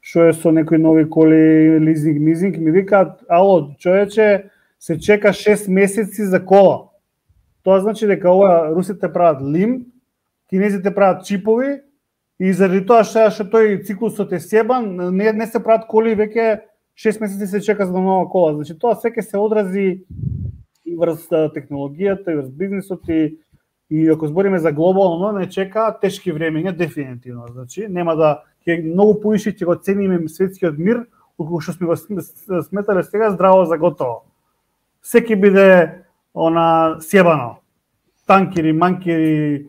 што е со некои нови коли, лизинг, мизинг, ми викаат, ало, човече, се чека шест месеци за кола. Тоа значи дека ова русите прават лим, кинезите прават чипови, и заради тоа што што тој циклусот е себан, не, не се прават коли веќе шест месеци се чека за нова кола. Значи тоа секој се одрази и врз технологијата, и врз бизнисот, и, и ако збориме за глобално, не чека тешки времења дефинитивно. Значи нема да ќе многу поише ќе го цениме светскиот мир, отколку што сме го сметале сега здраво за готово. Секи биде она сјебано. Танкери, манкери,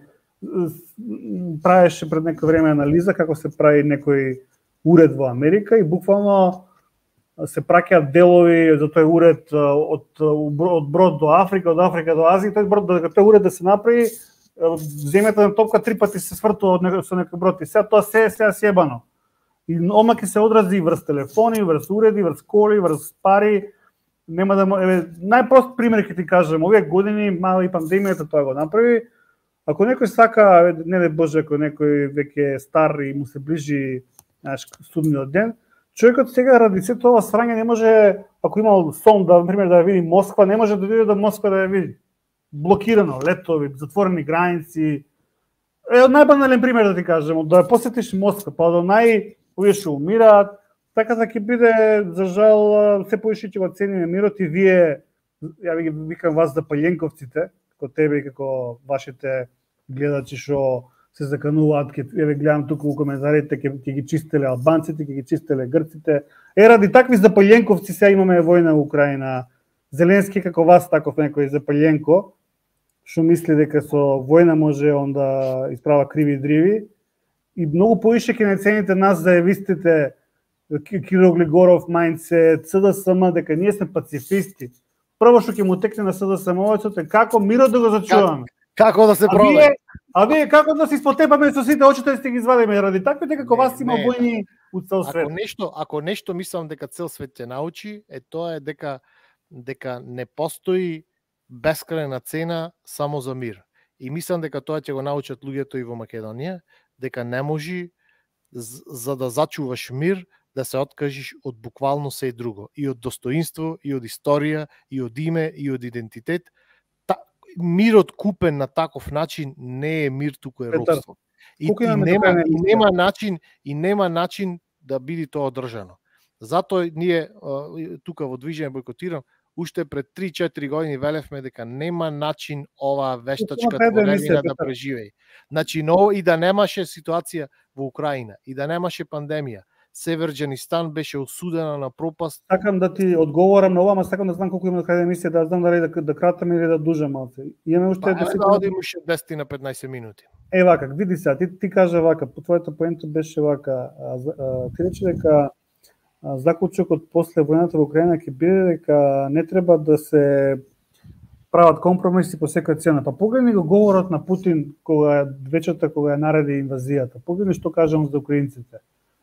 правеше пред некој време анализа како се прави некој уред во Америка и буквално се праќаат делови за тој уред од, од брод до Африка, од Африка до Азија, тој брод дека тој уред да се направи, земјата на топка три пати се свртува од некој со некој брод и сега тоа се е сега сјебано. И ома ќе се одрази врз телефони, врз уреди, врз коли, врз пари. Нема да еве најпрост пример ќе ти кажам, овие години мала и пандемијата тоа го направи. Ако некој сака, не дај Боже, ако некој веќе е стар и му се ближи, знаеш, судниот ден, човекот сега ради се тоа срање не може, ако имал сон да, например, да ја види Москва, не може да дојде до Москва да ја види. Блокирано, летови, затворени граници. Е, од најбанален пример да ти кажем, да ја посетиш Москва, па до нај овие што умираат, така да ќе биде, за жал, се поише ќе го цениме мирот и вие, ја ви викам вас запаљенковците, како тебе и како вашите гледачи што се закануваат, ќе еве гледам туку во коментарите, ќе ќе ги чистеле албанците, ќе ги чистеле грците. Е, ради такви запаљенковци сега имаме војна во Украина. Зеленски како вас таков некој запаљенко, што мисли дека со војна може он да исправа криви дриви. И многу поише ќе не цените нас зајавистите Кирил Глигоров, Мајнце, Ц Д С М, дека ние сме пацифисти. Прво што ќе му текне на Ц Д С М-овецот е како мирот да го зачуваме. Како да се проведе? А вие како да се испотепаме со сите очите да сте ги извадиме ради таквите како вас има војни у цел свет. Ако нешто, ако нешто мислам дека цел свет ќе научи, е тоа е дека дека не постои бескрајна цена само за мир. И мислам дека тоа ќе го научат луѓето и во Македонија, дека не може за да зачуваш мир да се откажиш од буквално се и друго, и од достоинство, и од историја, и од име, и од идентитет. Та, мирот купен на таков начин не е мир, туку е робство. И, и, нема, и нема начин, и нема начин да биде тоа одржано. Затоа ние тука во движење бойкотирам уште пред три-четири години велевме дека нема начин оваа вештачка творевина да преживее. Значи, но и да немаше ситуација во Украина, и да немаше пандемија, Северџанистан беше осудена на пропаст. Сакам да ти одговорам на ова, ама сакам да знам колку има крај емисија, да знам дали да, да кратам или да дужам малце. Имаме уште десет да одим уште десет на петнаесет минути. Е вака, види сега, ти ти кажа вака, по твоето поенто беше вака, а, а, ти рече дека заклучокот после војната во Украина ќе биде дека не треба да се прават компромиси по секоја цена. Па погледни го говорот на Путин кога вечерта кога ја нареди инвазијата. Погледни што кажам за украинците.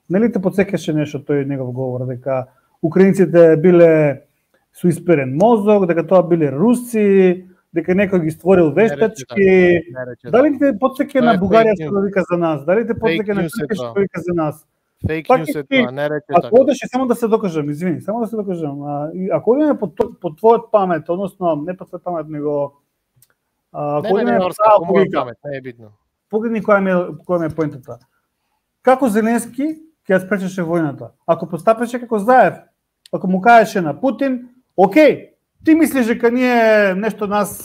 Нели те потсекаше нешто тој негов говор дека украинците биле со исперен мозок, дека тоа биле руси, дека некој ги створил вештачки. Дали те потсеке на Бугарија што вика за нас? Дали те потсеке на Турција што вика за нас? Фейк ньюс е тоа, не рече така. Ако одеше, само да се докажам, извини, само да се докажам. А, и ако одиме по, по твојот памет, односно не по твојот памет, него а, ако одиме по моја памет, не е битно. Погледни која ме која ме е поентата. Како Зеленски ќе ја спречеше војната? Ако постапеше како Заев, ако му кажеше на Путин, окей, ти мислиш дека ние нешто нас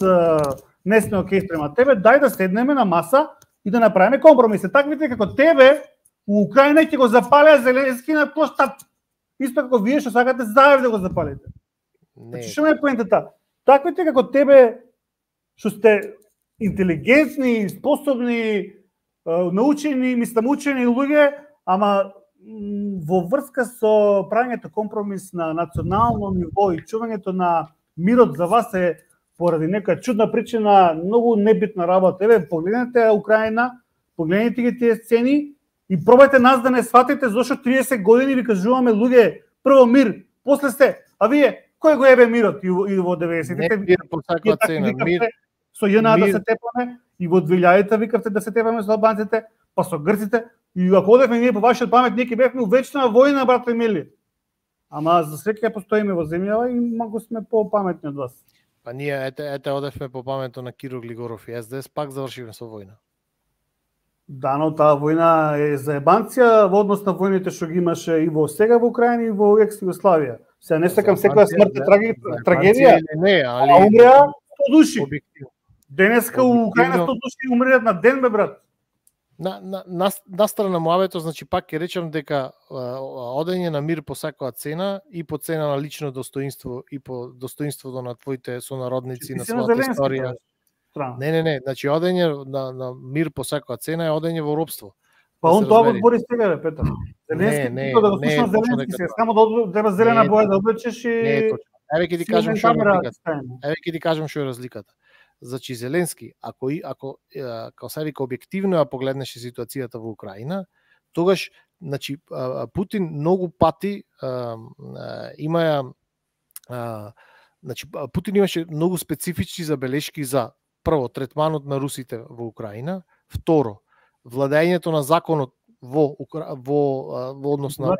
не сме окей спрема тебе, дај да седнеме на маса и да направиме компромиси. Таквите како тебе у Украина ќе го запалеа Зеленски на площад. Исто како вие што сакате Заев да го запалите. Значи што ме е поентата? Таквите како тебе што сте интелигентни, способни, научени, мислам учени луѓе, ама во врска со правењето компромис на национално ниво и чувањето на мирот за вас е поради нека чудна причина многу небитна работа. Еве погледнете Украина, погледнете ги тие сцени и пробајте нас да не сватите зашто триесет години ви кажуваме луѓе, прво мир, после се, а вие кој го ебе мирот и во деветдесетите? Не мир по секоја цена, мир со ЈНА да се тепаме и во двилјадите викавте да се тепаме со албанците, па со грците. И ако одевме ние по вашиот памет, ние ќе бевме у вечна војна, брате мили. Ама за среќа постоиме во земјава и многу сме по-паметни од вас. Па ние ете ете одевме по памето на Киро Глигоров и СДС, пак завршивме со војна. Да, но таа војна е за ебанција во однос на војните што ги имаше и во сега во Украина и во екс Југославија. Сега не сакам секоја смрт е трагедија. Не, али а умреа сто души. Денеска у Украина сто души умреат на ден, бе брат. На, на, на, на страна муавето, значи пак ќе речам дека одење на мир по секоја цена и по цена на лично достоинство и по достоинството на твоите сонародници, на својата историја. Не, не, не, значи одење на, на мир по секоја цена е одење во робство. Па он тоа го збори сега, бе, Петар. Зеленски, не, да го слушам Зеленски сега, само да треба зелена боја да облечеш и... Не е точно. Еве ќе ти кажам што е разликата. Еве ќе ти кажам што е разликата. Значи Зеленски, ако ако како се вика објективно ја погледнеше ситуацијата во Украина, тогаш значи Путин многу пати а, а, има а, значи Путин имаше многу специфични забелешки за прво третманот на русите во Украина, второ владењето на законот во во во однос на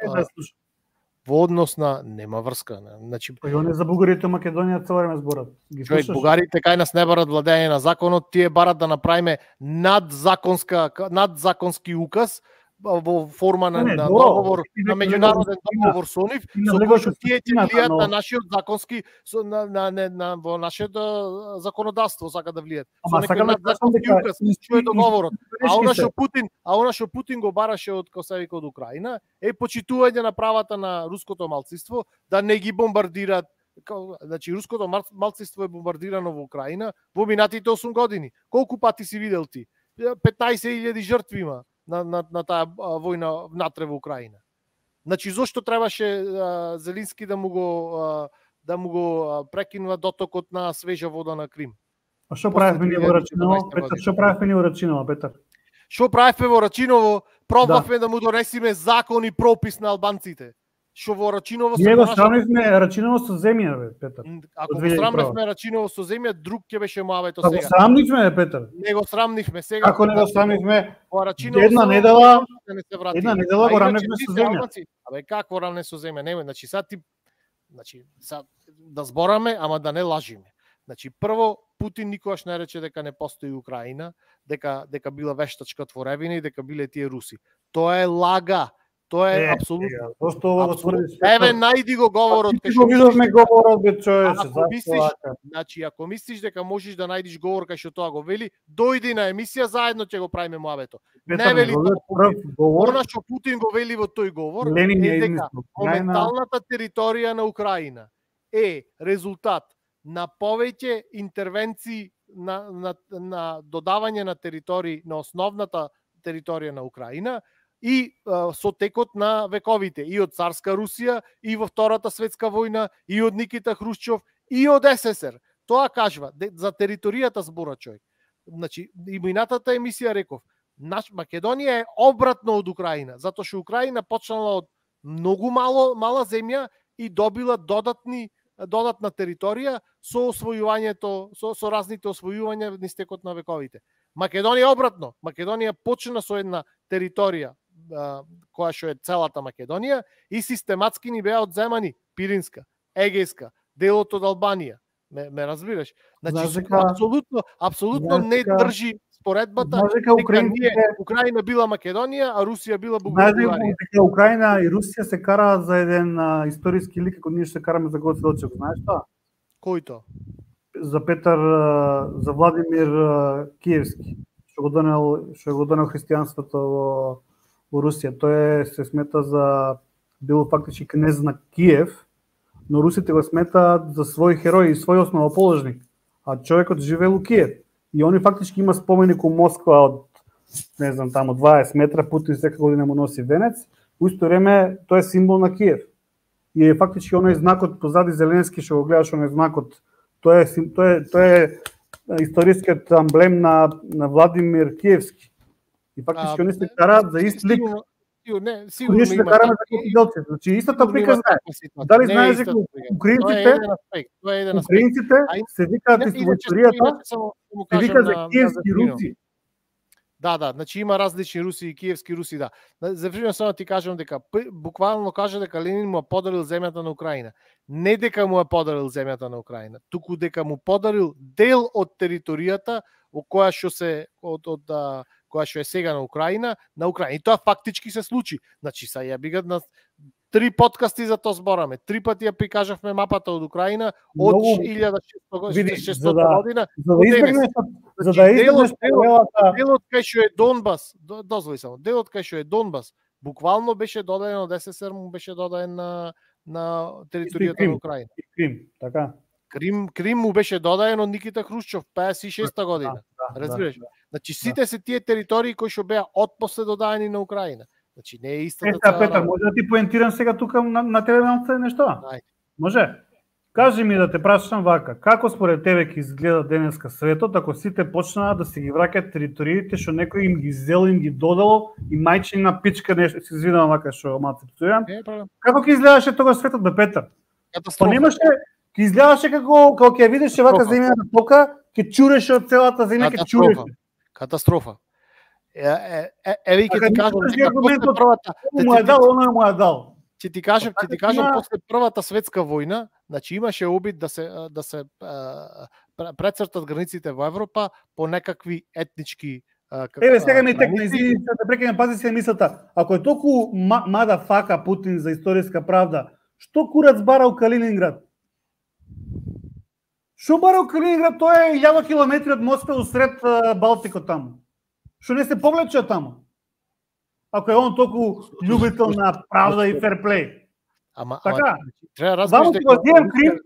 во однос на нема врска, значи па и он е за бугарите Македонија цел време зборат. Ги слушаш? Бугарите кај нас не барат владење на законот, тие барат да направиме надзаконска надзаконски указ во форма на, не, на договор, на меѓународен договор со нив, со кој што тие ќе влијат на нашиот законски со, на, на, на, на во нашето законодавство сака да влијат. Со некој надзаконски указ, што е договорот. А она што Путин, а она што Путин го бараше од Косевика од Украина е почитување на правата на руското малцинство да не ги бомбардираат. Значи руското малцинство е бомбардирано во Украина во минатите осум години. Колку пати си видел ти? петнаесет илјади жртви има на на на таа војна внатре во Украина. Значи зошто требаше а, Зеленски да му го а, да му го а, прекинува дотокот на свежа вода на Крим? А што правевме ние во Рачиново? Петар, што правевме ние во Рачиново, Петар? Што правевме во Рачиново? Пробавме да. да му донесиме закон и пропис на албанците. Што во Рачиново ние го срамивме Рачиново со земја, бе, Петар. Ако го срамивме Рачиново со земја, друг ќе беше муавето сега. Ако срамнивме, бе, Петар. Не го срамнивме сега. Ако не го срамивме, во Рачиново една недела, не една недела го рамнивме со земја. Абе какво рамне со земја? Нема, значи сад ти значи сад да збораме, ама да не лажиме. Значи прво Путин никогаш не рече дека не постои Украина, дека дека била вештачка творевина и дека биле тие руси. Тоа е лага. Тоа е Е, апсолутно. Зошто ова го Апсолутно. тврдиш? Еве најди го говорот Ти го видовме говорот бе човече, Ако зашто мислиш, вака? значи ако мислиш дека можеш да најдеш говор кај што тоа го вели, дојди на емисија заедно ќе го правиме муабето. Петар, Не вели неговиот тоа прв Путин. говор, Она што Путин го вели во тој говор Ленин ја е дека измислил. Крај на- моменталната територија на Украина е резултат на повеќе интервенции на, на, на додавање на територии на основната територија на Украина и а, со текот на вековите и од царска Русија и во Втората светска војна и од Никита Хрушчов и од СССР. Тоа кажува де, за територијата збора човек. Значи и минатата емисија реков, наш Македонија е обратно од Украина, затоа што Украина почнала од многу мало мала земја и добила додатни додатна територија со освојувањето, со, со разните освојувања низ текот на вековите. Македонија обратно. Македонија почна со една територија а, која што е целата Македонија и систематски ни беа одземани Пиринска, Егејска, делот од Албанија. Ме, ме разбираш? Значи Знаеш дека- апсолутно, апсолутно знаеш не дека- држи споредбата Знаеш дека дека украинците- ние Украина била Македонија, а Русија била Знаеш Бугарија. дека Украина и Русија се караат за еден а, историски лик како ние се караме за Гоце Делчев, знаеш тоа? Кој тоа? За Петар, а, за Владимир а, Киевски, што го донел, што го донел христијанството во, во Русија. Тој е, се смета за бил фактички кнез на Киев, но русите го сметаат за свој херој и свој основоположник, а човекот живеел у Киев. И они фактички има споменик у Москва од, не знам, тамо дваесет метра, Путин секоја година му носи венец, у исто време тој е символ на Киев. И е фактички оној знакот позади Зеленски што го гледаш, оној знакот, тој е сим- тој е тој е историскиот амблем на на Владимир Киевски. И фактички они се караат за ист лик. Сигурно- сигурно- Не, сигурно Ние ще има караме такви- за Гоце Делчев. Значи истата сигурно прика има знае. таква ситуација. Дали Не е знаеш истата дека прика. украинците- Тоа е еден аспект, тоа е еден аспект. Украинците А и- се викаат Не, исто во иначе- историјата, иначе само да му се кажам вика за на- на киевски Зефино. руси. Да, да, значи има различни руси и киевски руси, да. Зефино само ти кажам дека п- буквално кажа дека Ленин му ја подарил земјата на Украина. Не дека му ја подарил земјата на Украина, туку дека му подарил дел од територијата во која што се од, од а, која што е сега на Украина, на Украина. И тоа фактички се случи. Значи са ја бигат на три подкасти за тоа збораме. Три пати ја прикажавме мапата од Украина од Многу- илјада шестстотина Види, шестстотина за да- година. За да до денес. избегнеш за Значи, да делот- избегнеш делот- паралелата, Делот кај што е Донбас, до- дозволи само, делот кај што е Донбас, буквално беше додаден од СССР, му беше додаден на на територијата Крим. на Украина. и Крим, така. Крим, Крим му беше додаден од Никита Хрушчов пеесет и шеста година. Да, Разбираш? да. Значи сите се тие територии кои што беа отпосле додадени на Украина. Значи не е истата Ета, цела Петар, работа. може да ти поентирам сега тука на, на тебе малце нешто? Ајде. Може? Кажи ми да те прашам вака, како според тебе ќе изгледа денеска светот ако сите почнаа да се ги враќаат териториите што некој им ги зел, им ги додало и мајчина пичка нешто, се извинувам вака што малце пцујам. Не е проблем. Како ќе изгледаше тогаш светот бе Петар? Па Катастрофа. немаше, ќе изгледаше како како ќе видеше вака Катастрофа. земјата тока, ќе чуреше од целата земја, ќе Катастрофа. чуреше. Катастрофа. Е, е, е, еве и ќе Така, ти кажам никогаш дека не аргументот- после првата Му е дал, оно му е дал. Ќе ти кажам, ќе ти Така кажам има- после првата светска војна, значи имаше обид да се да се а, пр- прецртат границите во Европа по некакви етнички а, как- Еве сега ми а, текна, граници. извини, да прекинем, пази се мислата. Ако е толку ма, мада фака Путин за историска правда, што курац барал Калининград? Што барал Калининград? Тоа е илјада километри од Москва усред а, Балтикот таму. Што не се повлече од таму? Ако е он толку љубител на правда и ферплей. Ама, Така. ама треба да Ваму разбереш ти го земам Крим,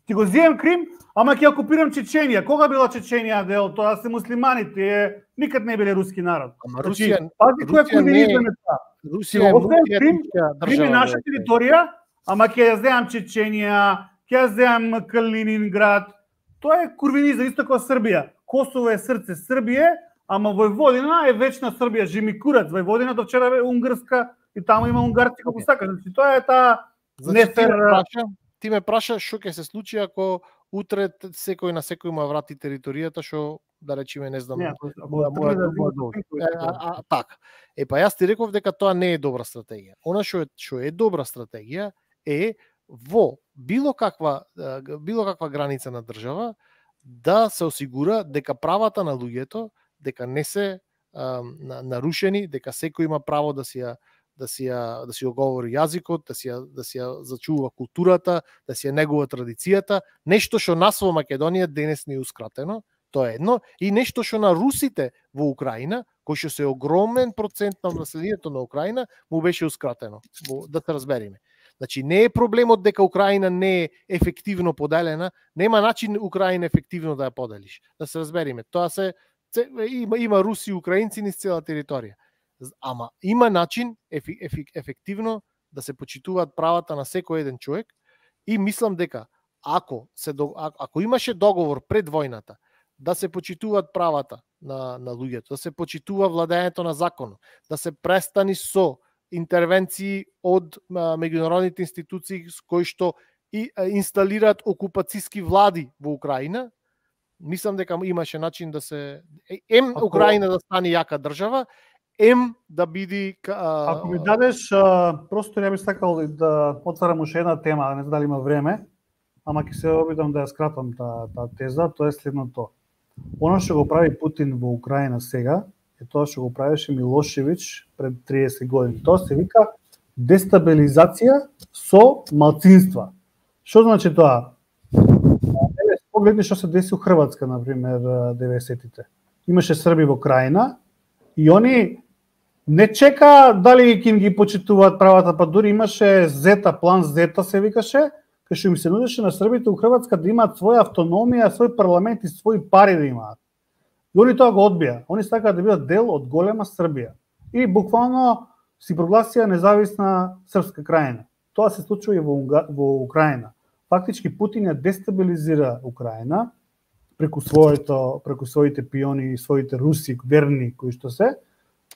ти го земам Крим, ама ќе окупирам Чеченија. Кога била Чеченија дел? Тоа се муслимани, тие никад не биле руски народ. Ама Значи, Русија, пази кој е Русија не е- комунизм е тоа. Русија е го оставам мултиетничка Крим е држава. наша бе. територија, ама ќе ја земам Чеченија, ќе ја земам Калининград. Тоа е курвинизам, исто како Србија. Косово е срце Србија, ама Војводина е вечна Србија, жими курац. Војводина до вчера е унгарска и таму има унгарци како сака. Значи тоа е таа Значи, ти ме нефер. праша, ти ме праша што ќе се случи ако утре т- секој на секој му ја врати територијата што да речеме не знам. Не, му ако- ја- ако му ја- му ја тргне да му ја зима долго. топинко, Е, а, а, така. Е па јас ти реков дека тоа не е добра стратегија. Она што е што е добра стратегија е во било каква е, г- било каква граница на држава да се осигура дека правата на луѓето дека не се а, на- нарушени, дека секој има право да си ја да си ја да си го говори јазикот, да си ја да си ја зачува културата, да си ја негува традицијата, нешто што нас во Македонија денес не еускратено, тоа е едно, и нешто што на русите во Украина, кој што се огромен процент на населението на Украина, му бешеускратено, да се разбериме. Значи, не е проблемот дека Украина не е ефективно поделена, нема начин Украина ефективно да ја поделиш. Да се разбериме, тоа се има има руси и украинци низ цела територија. Ама има начин ефи, ефи, ефективно да се почитуваат правата на секој еден човек и мислам дека ако се ако имаше договор пред војната да се почитуваат правата на на луѓето, да се почитува владењето на законот, да се престани со интервенции од а, меѓународните институции кои што и а, инсталираат окупацијски влади во Украина, мислам дека имаше начин да се ем ако... Украина да стане јака држава, ем да биде а... Ако ми дадеш а, просто ја би сакал да отварам уште една тема, не знам дали има време, ама ќе се обидам да ја скратам таа та теза, тоа е следното. Оно што го прави Путин во Украина сега е тоа што го правеше Милошевиќ пред триесет години. Тоа се вика дестабилизација со малцинства. Што значи тоа? Погледни што се деси у Хрватска, например, деветдесетите. Имаше срби во Крајна и они не чека дали ќе им ги почитуваат правата, па дури имаше Зета, план Зета се викаше, кај што им се нудеше на србите у Хрватска да имаат своја автономија, свој парламент и своји пари да имаат. И они тоа го одбија. Они сакаат да бидат дел од голема Србија. И буквално си прогласија независна српска крајна. Тоа се случува и во, во Украина. Фактички Путин ја дестабилизира Украина преку своето, преку своите пиони и своите руси верни кои што се.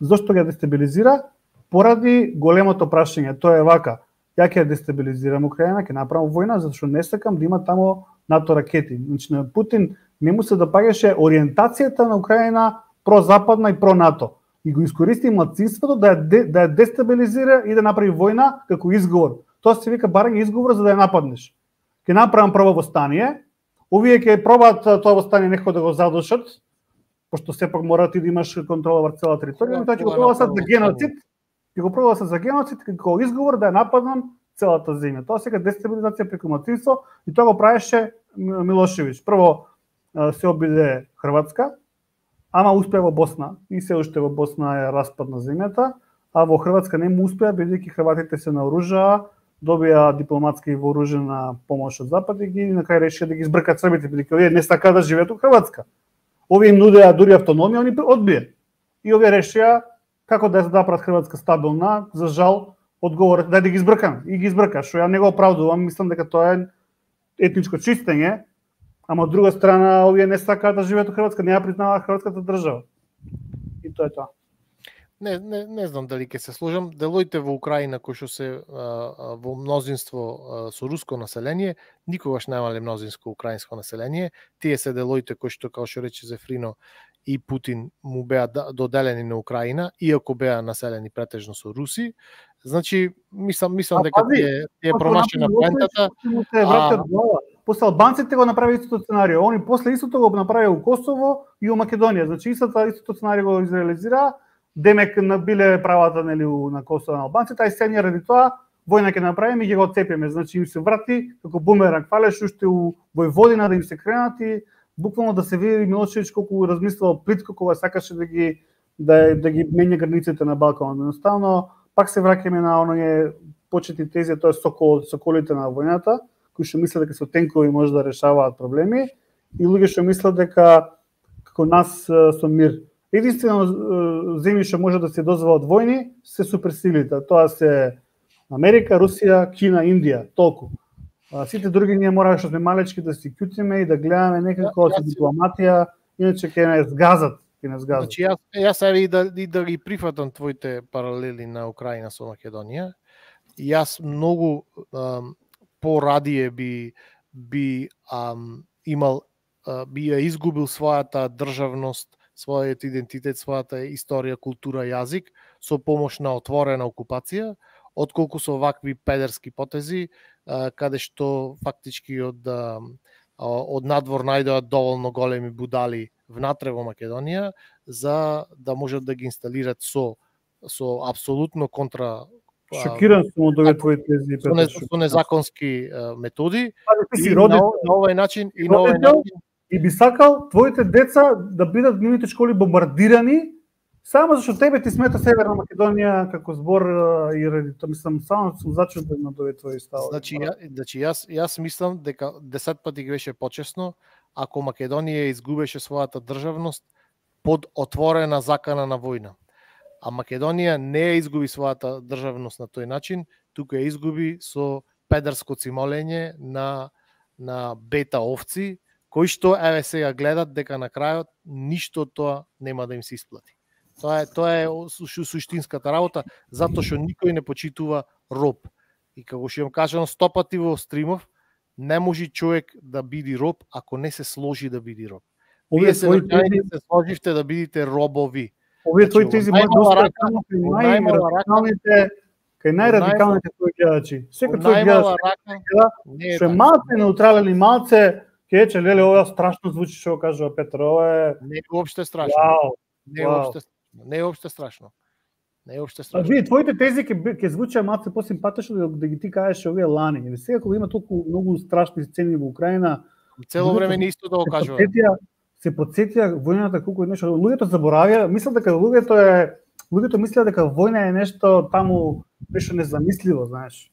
Зошто ја дестабилизира? Поради големото прашање. Тоа е вака. Ја ќе ја дестабилизирам Украина, ќе направам војна, затоа што не сакам да има таму НАТО ракети. Значи на Путин не му се допаѓаше ориентацијата на Украина прозападна и про-НАТО. И го искористи младсинството да ја, да ја дестабилизира и да направи војна како изговор. Тоа се вика барање изговор за да ја нападнеш. Ќе направам прво востание, овие ќе пробаат тоа востание некако да го задушат, пошто сепак мора ти да имаш контрола врз цела територија, тоа ќе го прогласат за геноцид, ќе го прогласат за геноцид како изговор да ја нападнам целата земја. Тоа сега дестабилизација преку младсинство и тоа го правеше Милошевиќ. Прво се обиде Хрватска, ама успеа во Босна и се уште во Босна е распад на земјата, а во Хрватска не му успеа бидејќи хрватите се наоружаа, добија дипломатска и вооружена помош од Запад и ги на крај решија да ги збркат србите, бидејќи овие не сакаат да живеат у Хрватска. Овие им нудеа дури автономија, они одбија. И овие решија како да ја направат Хрватска стабилна, за жал одговорот да ги збркам и ги збрка, што ја не го оправдувам, мислам дека тоа е етничко чистење, ама од друга страна овие не сакаат да живеат у Хрватска, не ја признаваат хрватската држава. И тоа е тоа. Не, не, не знам дали ќе се сложам. Делоите во Украина кои што се а, во мнозинство а, со руско население, никогаш немале мнозинско украинско население. Тие се делоите кои што, како што рече Зефрино, и Путин му беа доделени на Украина, иако беа населени претежно со руси. Значи, мислам, мислам дека тие е промашена поентата. После албанците го направи истото сценарио. Они после истото го направи у Косово и у Македонија. Значи, истото, истото сценарио го изреализира. Демек набиле правата нели на Косово на албанците, а и сега ради тоа војна ќе направиме и ќе го отцепиме. Значи им се врати како бумеранг, фалеш уште у Војводина да им се кренат и буквално да се види Милошевиќ колку размислувал плитко кога сакаше да ги да да ги менја границите на Балканот. Едноставно пак се враќаме на оние почетни тези, тоа е сокол, соколите на војната, кои што мислат дека со тенкови може да решаваат проблеми и луѓе што мислат дека како нас со мир. Единствено земји што може да се дозволат војни се суперсилите. Тоа се Америка, Русија, Кина, Индија, толку. А, сите други ние мора што сме малечки да си кјутиме и да гледаме некако со дипломатија, иначе ќе не згазат, ќе не згазат. Значи јас јас еве и да и да ги прифатам твоите паралели на Украина со Македонија. Јас многу ам, порадие би би ам, имал а, би ја изгубил својата државност, својот идентитет, својата историја, култура, јазик со помош на отворена окупација, отколку со вакви педерски потези, каде што фактички од од надвор најдоат доволно големи будали внатре во Македонија за да можат да ги инсталират со со апсолутно контра Шокиран сум од овие твои тези, со, не, со незаконски а, методи. Ти си И родител, на, на овој начин и на овој родител, начин и би сакал твоите деца да бидат нивните школи бомбардирани само зашто тебе ти смета Северна Македонија како збор и ради тоа, мислам, само сум зачуден на овие твои ставови. Значи, ја, значи јас јас мислам дека десет пати беше почесно ако Македонија изгубеше својата државност под отворена закана на војна. А Македонија не ја изгуби својата државност на тој начин, туку ја изгуби со педерско цимолење на на бета овци, кои што еве сега гледат дека на крајот ништо тоа нема да им се исплати. Тоа е тоа е суштинската работа, затоа што никој не почитува роб. И како што им кажано сто пати во стримов, не може човек да биде роб ако не се сложи да биде роб. Вие се се сложивте да бидите робови. Овие твои тези може да останат само кај најрадикалните, кај најрадикалните твои гледачи. Секој твој гледач, што е малце неутрален и малце, ќе рече, леле, ова страшно звучи што кажува Петар, ова е... Не е уопште страшно. Вау, не е уопште страшно. Не е уопште страшно. Не е уопште страшно. Вие твоите тези ќе ќе звучат малце посимпатично да, да ги ти кажеш овие лани. Или сега кога има толку многу страшни сцени во Украина, цело време не исто да го кажувам. Се потсетија војната колку е нешто. Луѓето заборавија, мислат дека луѓето е луѓето мислеа дека војна е нешто таму нешто незамисливо, знаеш.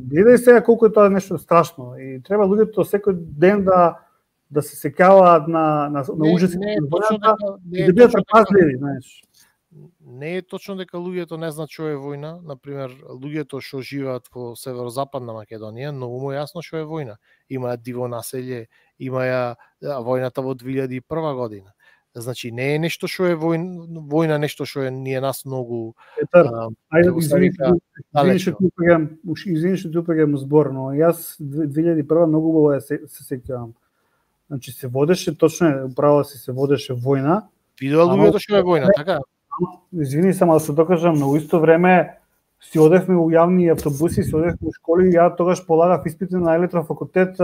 Гледај сега колку е тоа нешто страшно и треба луѓето секој ден да да се сеќаваат на на, на ужасите на војната и да бидат предпазливи, знаеш. Не е точно дека луѓето не знаат што е војна, например, луѓето што живеат во северозападна Македонија, многу му јасно што е војна. Има диво населје, има ја војната во две илјади и прва година. Значи не е нешто што е војна, војна нешто што е ние нас многу. Петар, ајде извини, извини што ти упрегам, извини што ти упрегам збор, но јас две илјади и прва многу убаво ја се, се сеќавам. Значи се водеше точно, управо си се водеше војна. Видоа луѓето што е војна, така? Извини само да се докажам, но во исто време си одевме во јавни автобуси, си одевме во школи, ја тогаш полагав испити на електрофакултет,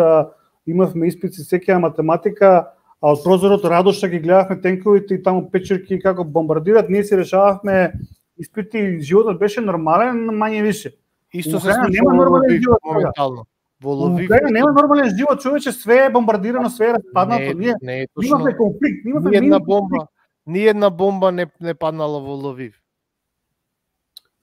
имавме испити сеќава математика, а од прозорот Радоша ги гледавме тенковите и таму печерки како бомбардират, ние си решававме испити, животот беше нормален, мање више. Исто се случува нема нормален живот моментално. Во Лвив нема нормален живот, човече, све е бомбардирано, све е распаднато. Ние имавме конфликт, имавме една бомба. Ни една бомба не не паднала во Лвив.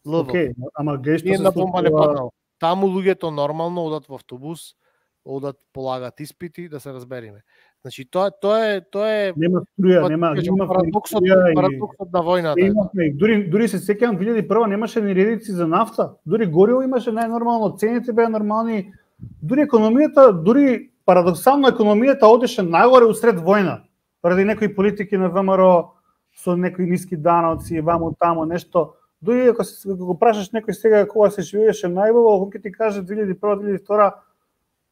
Лвив. Океј, ама гледаш Ни една бомба не паднала. Таму луѓето нормално одат во автобус, одат полагат испити, да се разбериме. Значи тоа тоа е тоа е нема струја, нема нема парадоксот, парадоксот на војната. Имавме, дури дури се сеќавам две илјади и прва немаше ни редици за нафта. Дури гориво имаше најнормално, цените беа нормални. Дури економијата, дури парадоксално економијата одеше нагоре усред војна. Ради некои политики на ВМРО со некои ниски даноци, ваму таму нешто. Дури ако се го прашаш некој сега кога се живееше најубаво, ќе ти каже две илјади и прва, две илјади и втора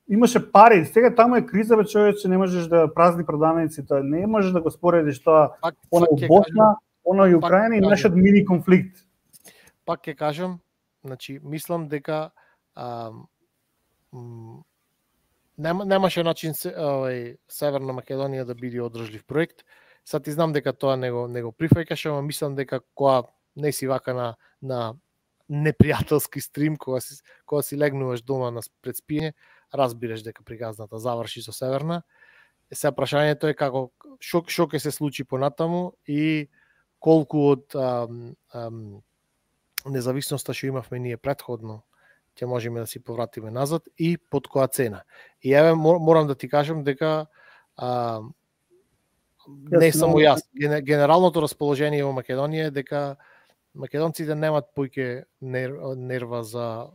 имаше пари. Сега таму е криза, бе, човече, не можеш да празни продавници, тоа не можеш да го споредиш тоа. Она во Босна, она и Украина и нашиот мини конфликт. Пак ќе кажам, значи мислам дека а, нема немаше начин се, овај Северна Македонија да биде одржлив проект. Сад ти знам дека тоа не го не го прифаќаш, ама мислам дека кога не си вака на на непријателски стрим, кога си кога си легнуваш дома на пред спиење, разбираш дека приказната заврши со Северна. Е, сега прашањето е како што што ќе се случи понатаму и колку од ам, ам, независноста што имавме ние претходно ќе можеме да си повратиме назад и под која цена. И еве морам да ти кажам дека а, не само јас, генералното расположение во Македонија е дека македонците немат поиќе нерва за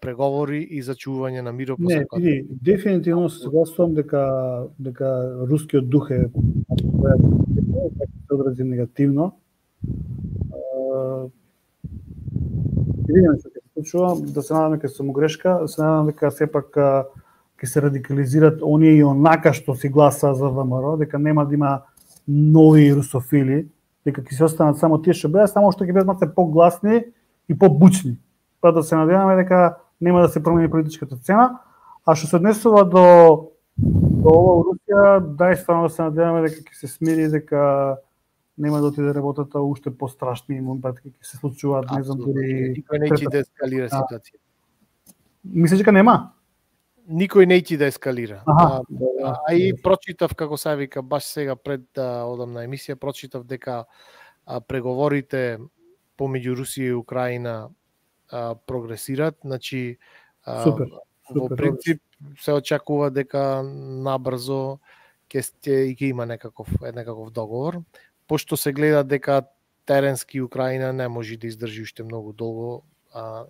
преговори и за чување на миро. Не, види, дефинитивно се согласувам дека дека рускиот дух е се одрази негативно. И видиме што ќе се случува, да се надам дека сум грешка, да се надам дека сепак ќе се радикализират оние и онака што си гласа за ВМРО, дека нема да има нови русофили, дека ќе се останат само тие што беа, само што ќе бидат малку погласни и побучни. Па да се надеваме дека нема да се промени политичката цена, а што се однесува до до ова Русија, дај стварно да се надеваме дека ќе се смири, дека нема да отиде работата уште пострашни моментите ќе се случуваат, не знам дури никој не ќе да ескалира ситуација. Мислиш дека нема? Никој не ќе да ескалира. Аха, а, а и прочитав како се вика баш сега пред да одам на емисија, прочитав дека а, преговорите помеѓу Русија и Украина а, прогресираат, значи а, Супер. во принцип се очекува дека набрзо ќе сте и ќе има некаков некаков договор, пошто се гледа дека теренски Украина не може да издржи уште многу долго а,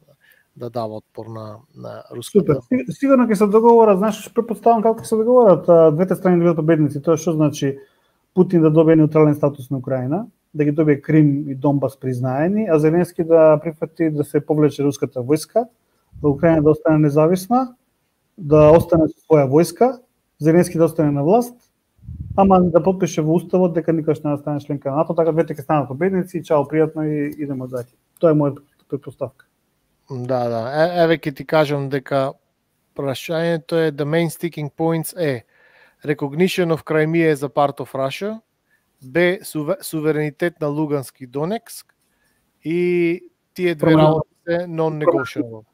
да дава отпор на на руската. Супер. Сигурно ќе се договорат, знаеш, препоставам како ќе се договорат двете страни да бидат победници. Тоа што значи Путин да добие неутрален статус на Украина, да ги добие Крим и Донбас признаени, а Зеленски да прифати да се повлече руската војска, да Украина да остане независна, да остане со своја војска, Зеленски да остане на власт, ама да подпише во уставот дека никош не да стане членка на НАТО, така двете ќе станат победници и чао, пријатно и идеме дале. Тоа е мојата претпоставка. Да, да. Е, еве ќе ти кажам дека прашањето е the main sticking points е recognition of Crimea as a part of Russia, Б суверенитет на Лугански и Донецк и тие две работи се non-negotiable.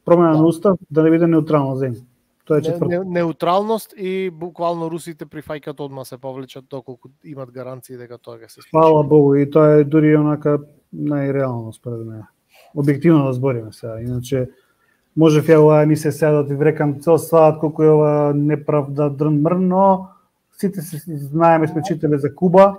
Промена на устав да не биде неутрална земја. Тоа е четврто. Не, неутралност и буквално русите прифаќаат одма се повлечат доколку имат гаранции дека тоа ќе се случи. Фала Богу, и тоа е дури онака најреално според мене. Објективно да збориме сега, иначе можев ја оваа емисија сега да ти врекам цел саат колку е ова неправда дрн мрн, но сите се знаеме, сме читале за Куба.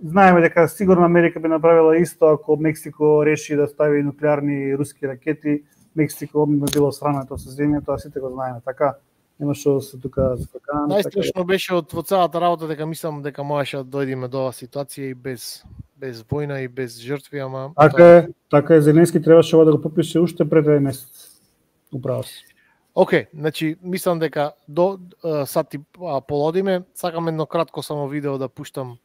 Знаеме дека сигурно Америка би направила исто ако Мексико реши да стави нуклеарни руски ракети. Мексико би било срамето со земја, тоа сите го знаеме, така нема што да се тука закакаме. Најстрашно беше од во целата работа дека мислам дека можеше да дојдеме до оваа ситуација и без без војна и без жртви, ама така е, така е, Зеленски требаше ова да го подпише уште пред еден месец. Управо си. Океј, значи мислам дека до uh, сат и полодиме, сакам едно кратко само видео да пуштам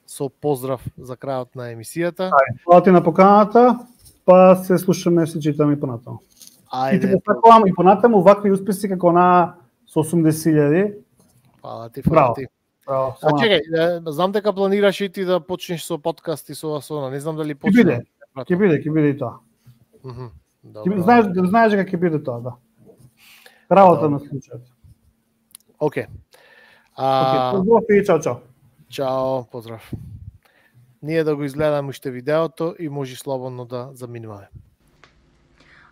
со поздрав за крајот на емисијата. Ајде, фала ти на поканата, па се слушаме, се читаме и понатаму. Ајде. И ти го сакувам и понатаму вакви успеси како на со осумдесет илјади. Фала ти, фала ти. Браво. А чекај, знам дека планираш и ти да почнеш со подкаст и со Асона, не знам дали Ќе почнеш. биде, ќе биде, ќе биде и тоа. Мгм. Ќе знаеш, знаеш дека ќе биде тоа, да. Работа на случајот. Океј. А поздрав и чао чао. Чао, поздрав. Ние да го изгледаме уште видеото и може слободно да заминуваме.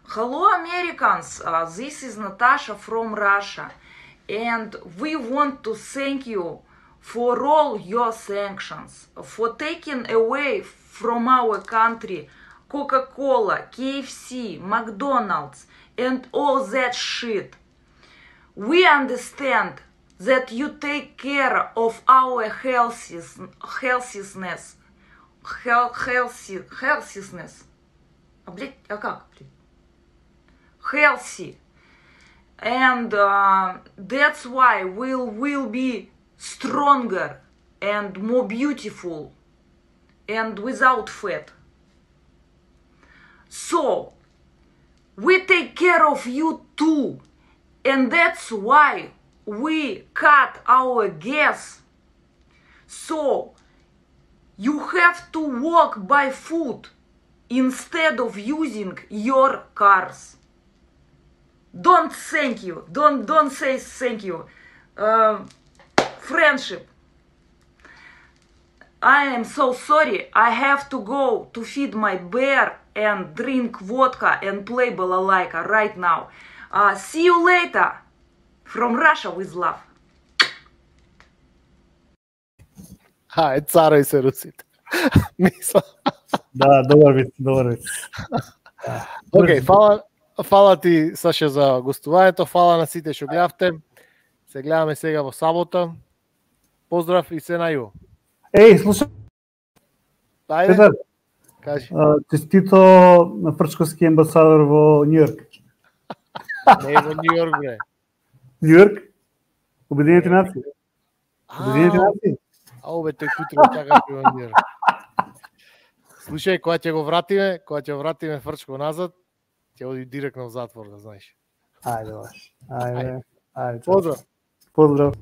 Hello Americans, uh, this is Natasha from Russia and we want to thank you for all your sanctions, for taking away from our country Coca-Cola, K F C, McDonald's and all that shit. We understand that you take care of our healthiness, healthiness, healthy, healthiness. А, блядь, а как, блядь? Healthy, and uh, that's why we'll will be stronger and more beautiful and without fat. So we take care of you too, and that's why we cut our gas. So you have to walk by foot instead of using your cars. Don't thank you. Don't don't say thank you. Uh, friendship. I am so sorry. I have to go to feed my bear and drink vodka and play balalaika right now. Uh, see you later. From Russia with love. Ај, царај се русите. Мисла. Да, добар вид, добар вид. Океј, фала Фала ти, Саша, за гостувањето, фала на сите што гледавте. Се гледаме сега во сабота. Поздрав и се нају. Еј, слушај, Ајде, Петар, кажи. честито на фрчковски амбасадор во Њујорк. Не е во Њујорк, бре. Њујорк? Обединените нации. Обединените нации. Ау, бе, тој кутро чака во Њујорк. Слушај, кога ќе го вратиме, кога ќе го вратиме Фрчко назад, ќе оди директно во затвор, да знаеш. Ајде, баш. Ајде. Ајде. Поздрав. Поздрав.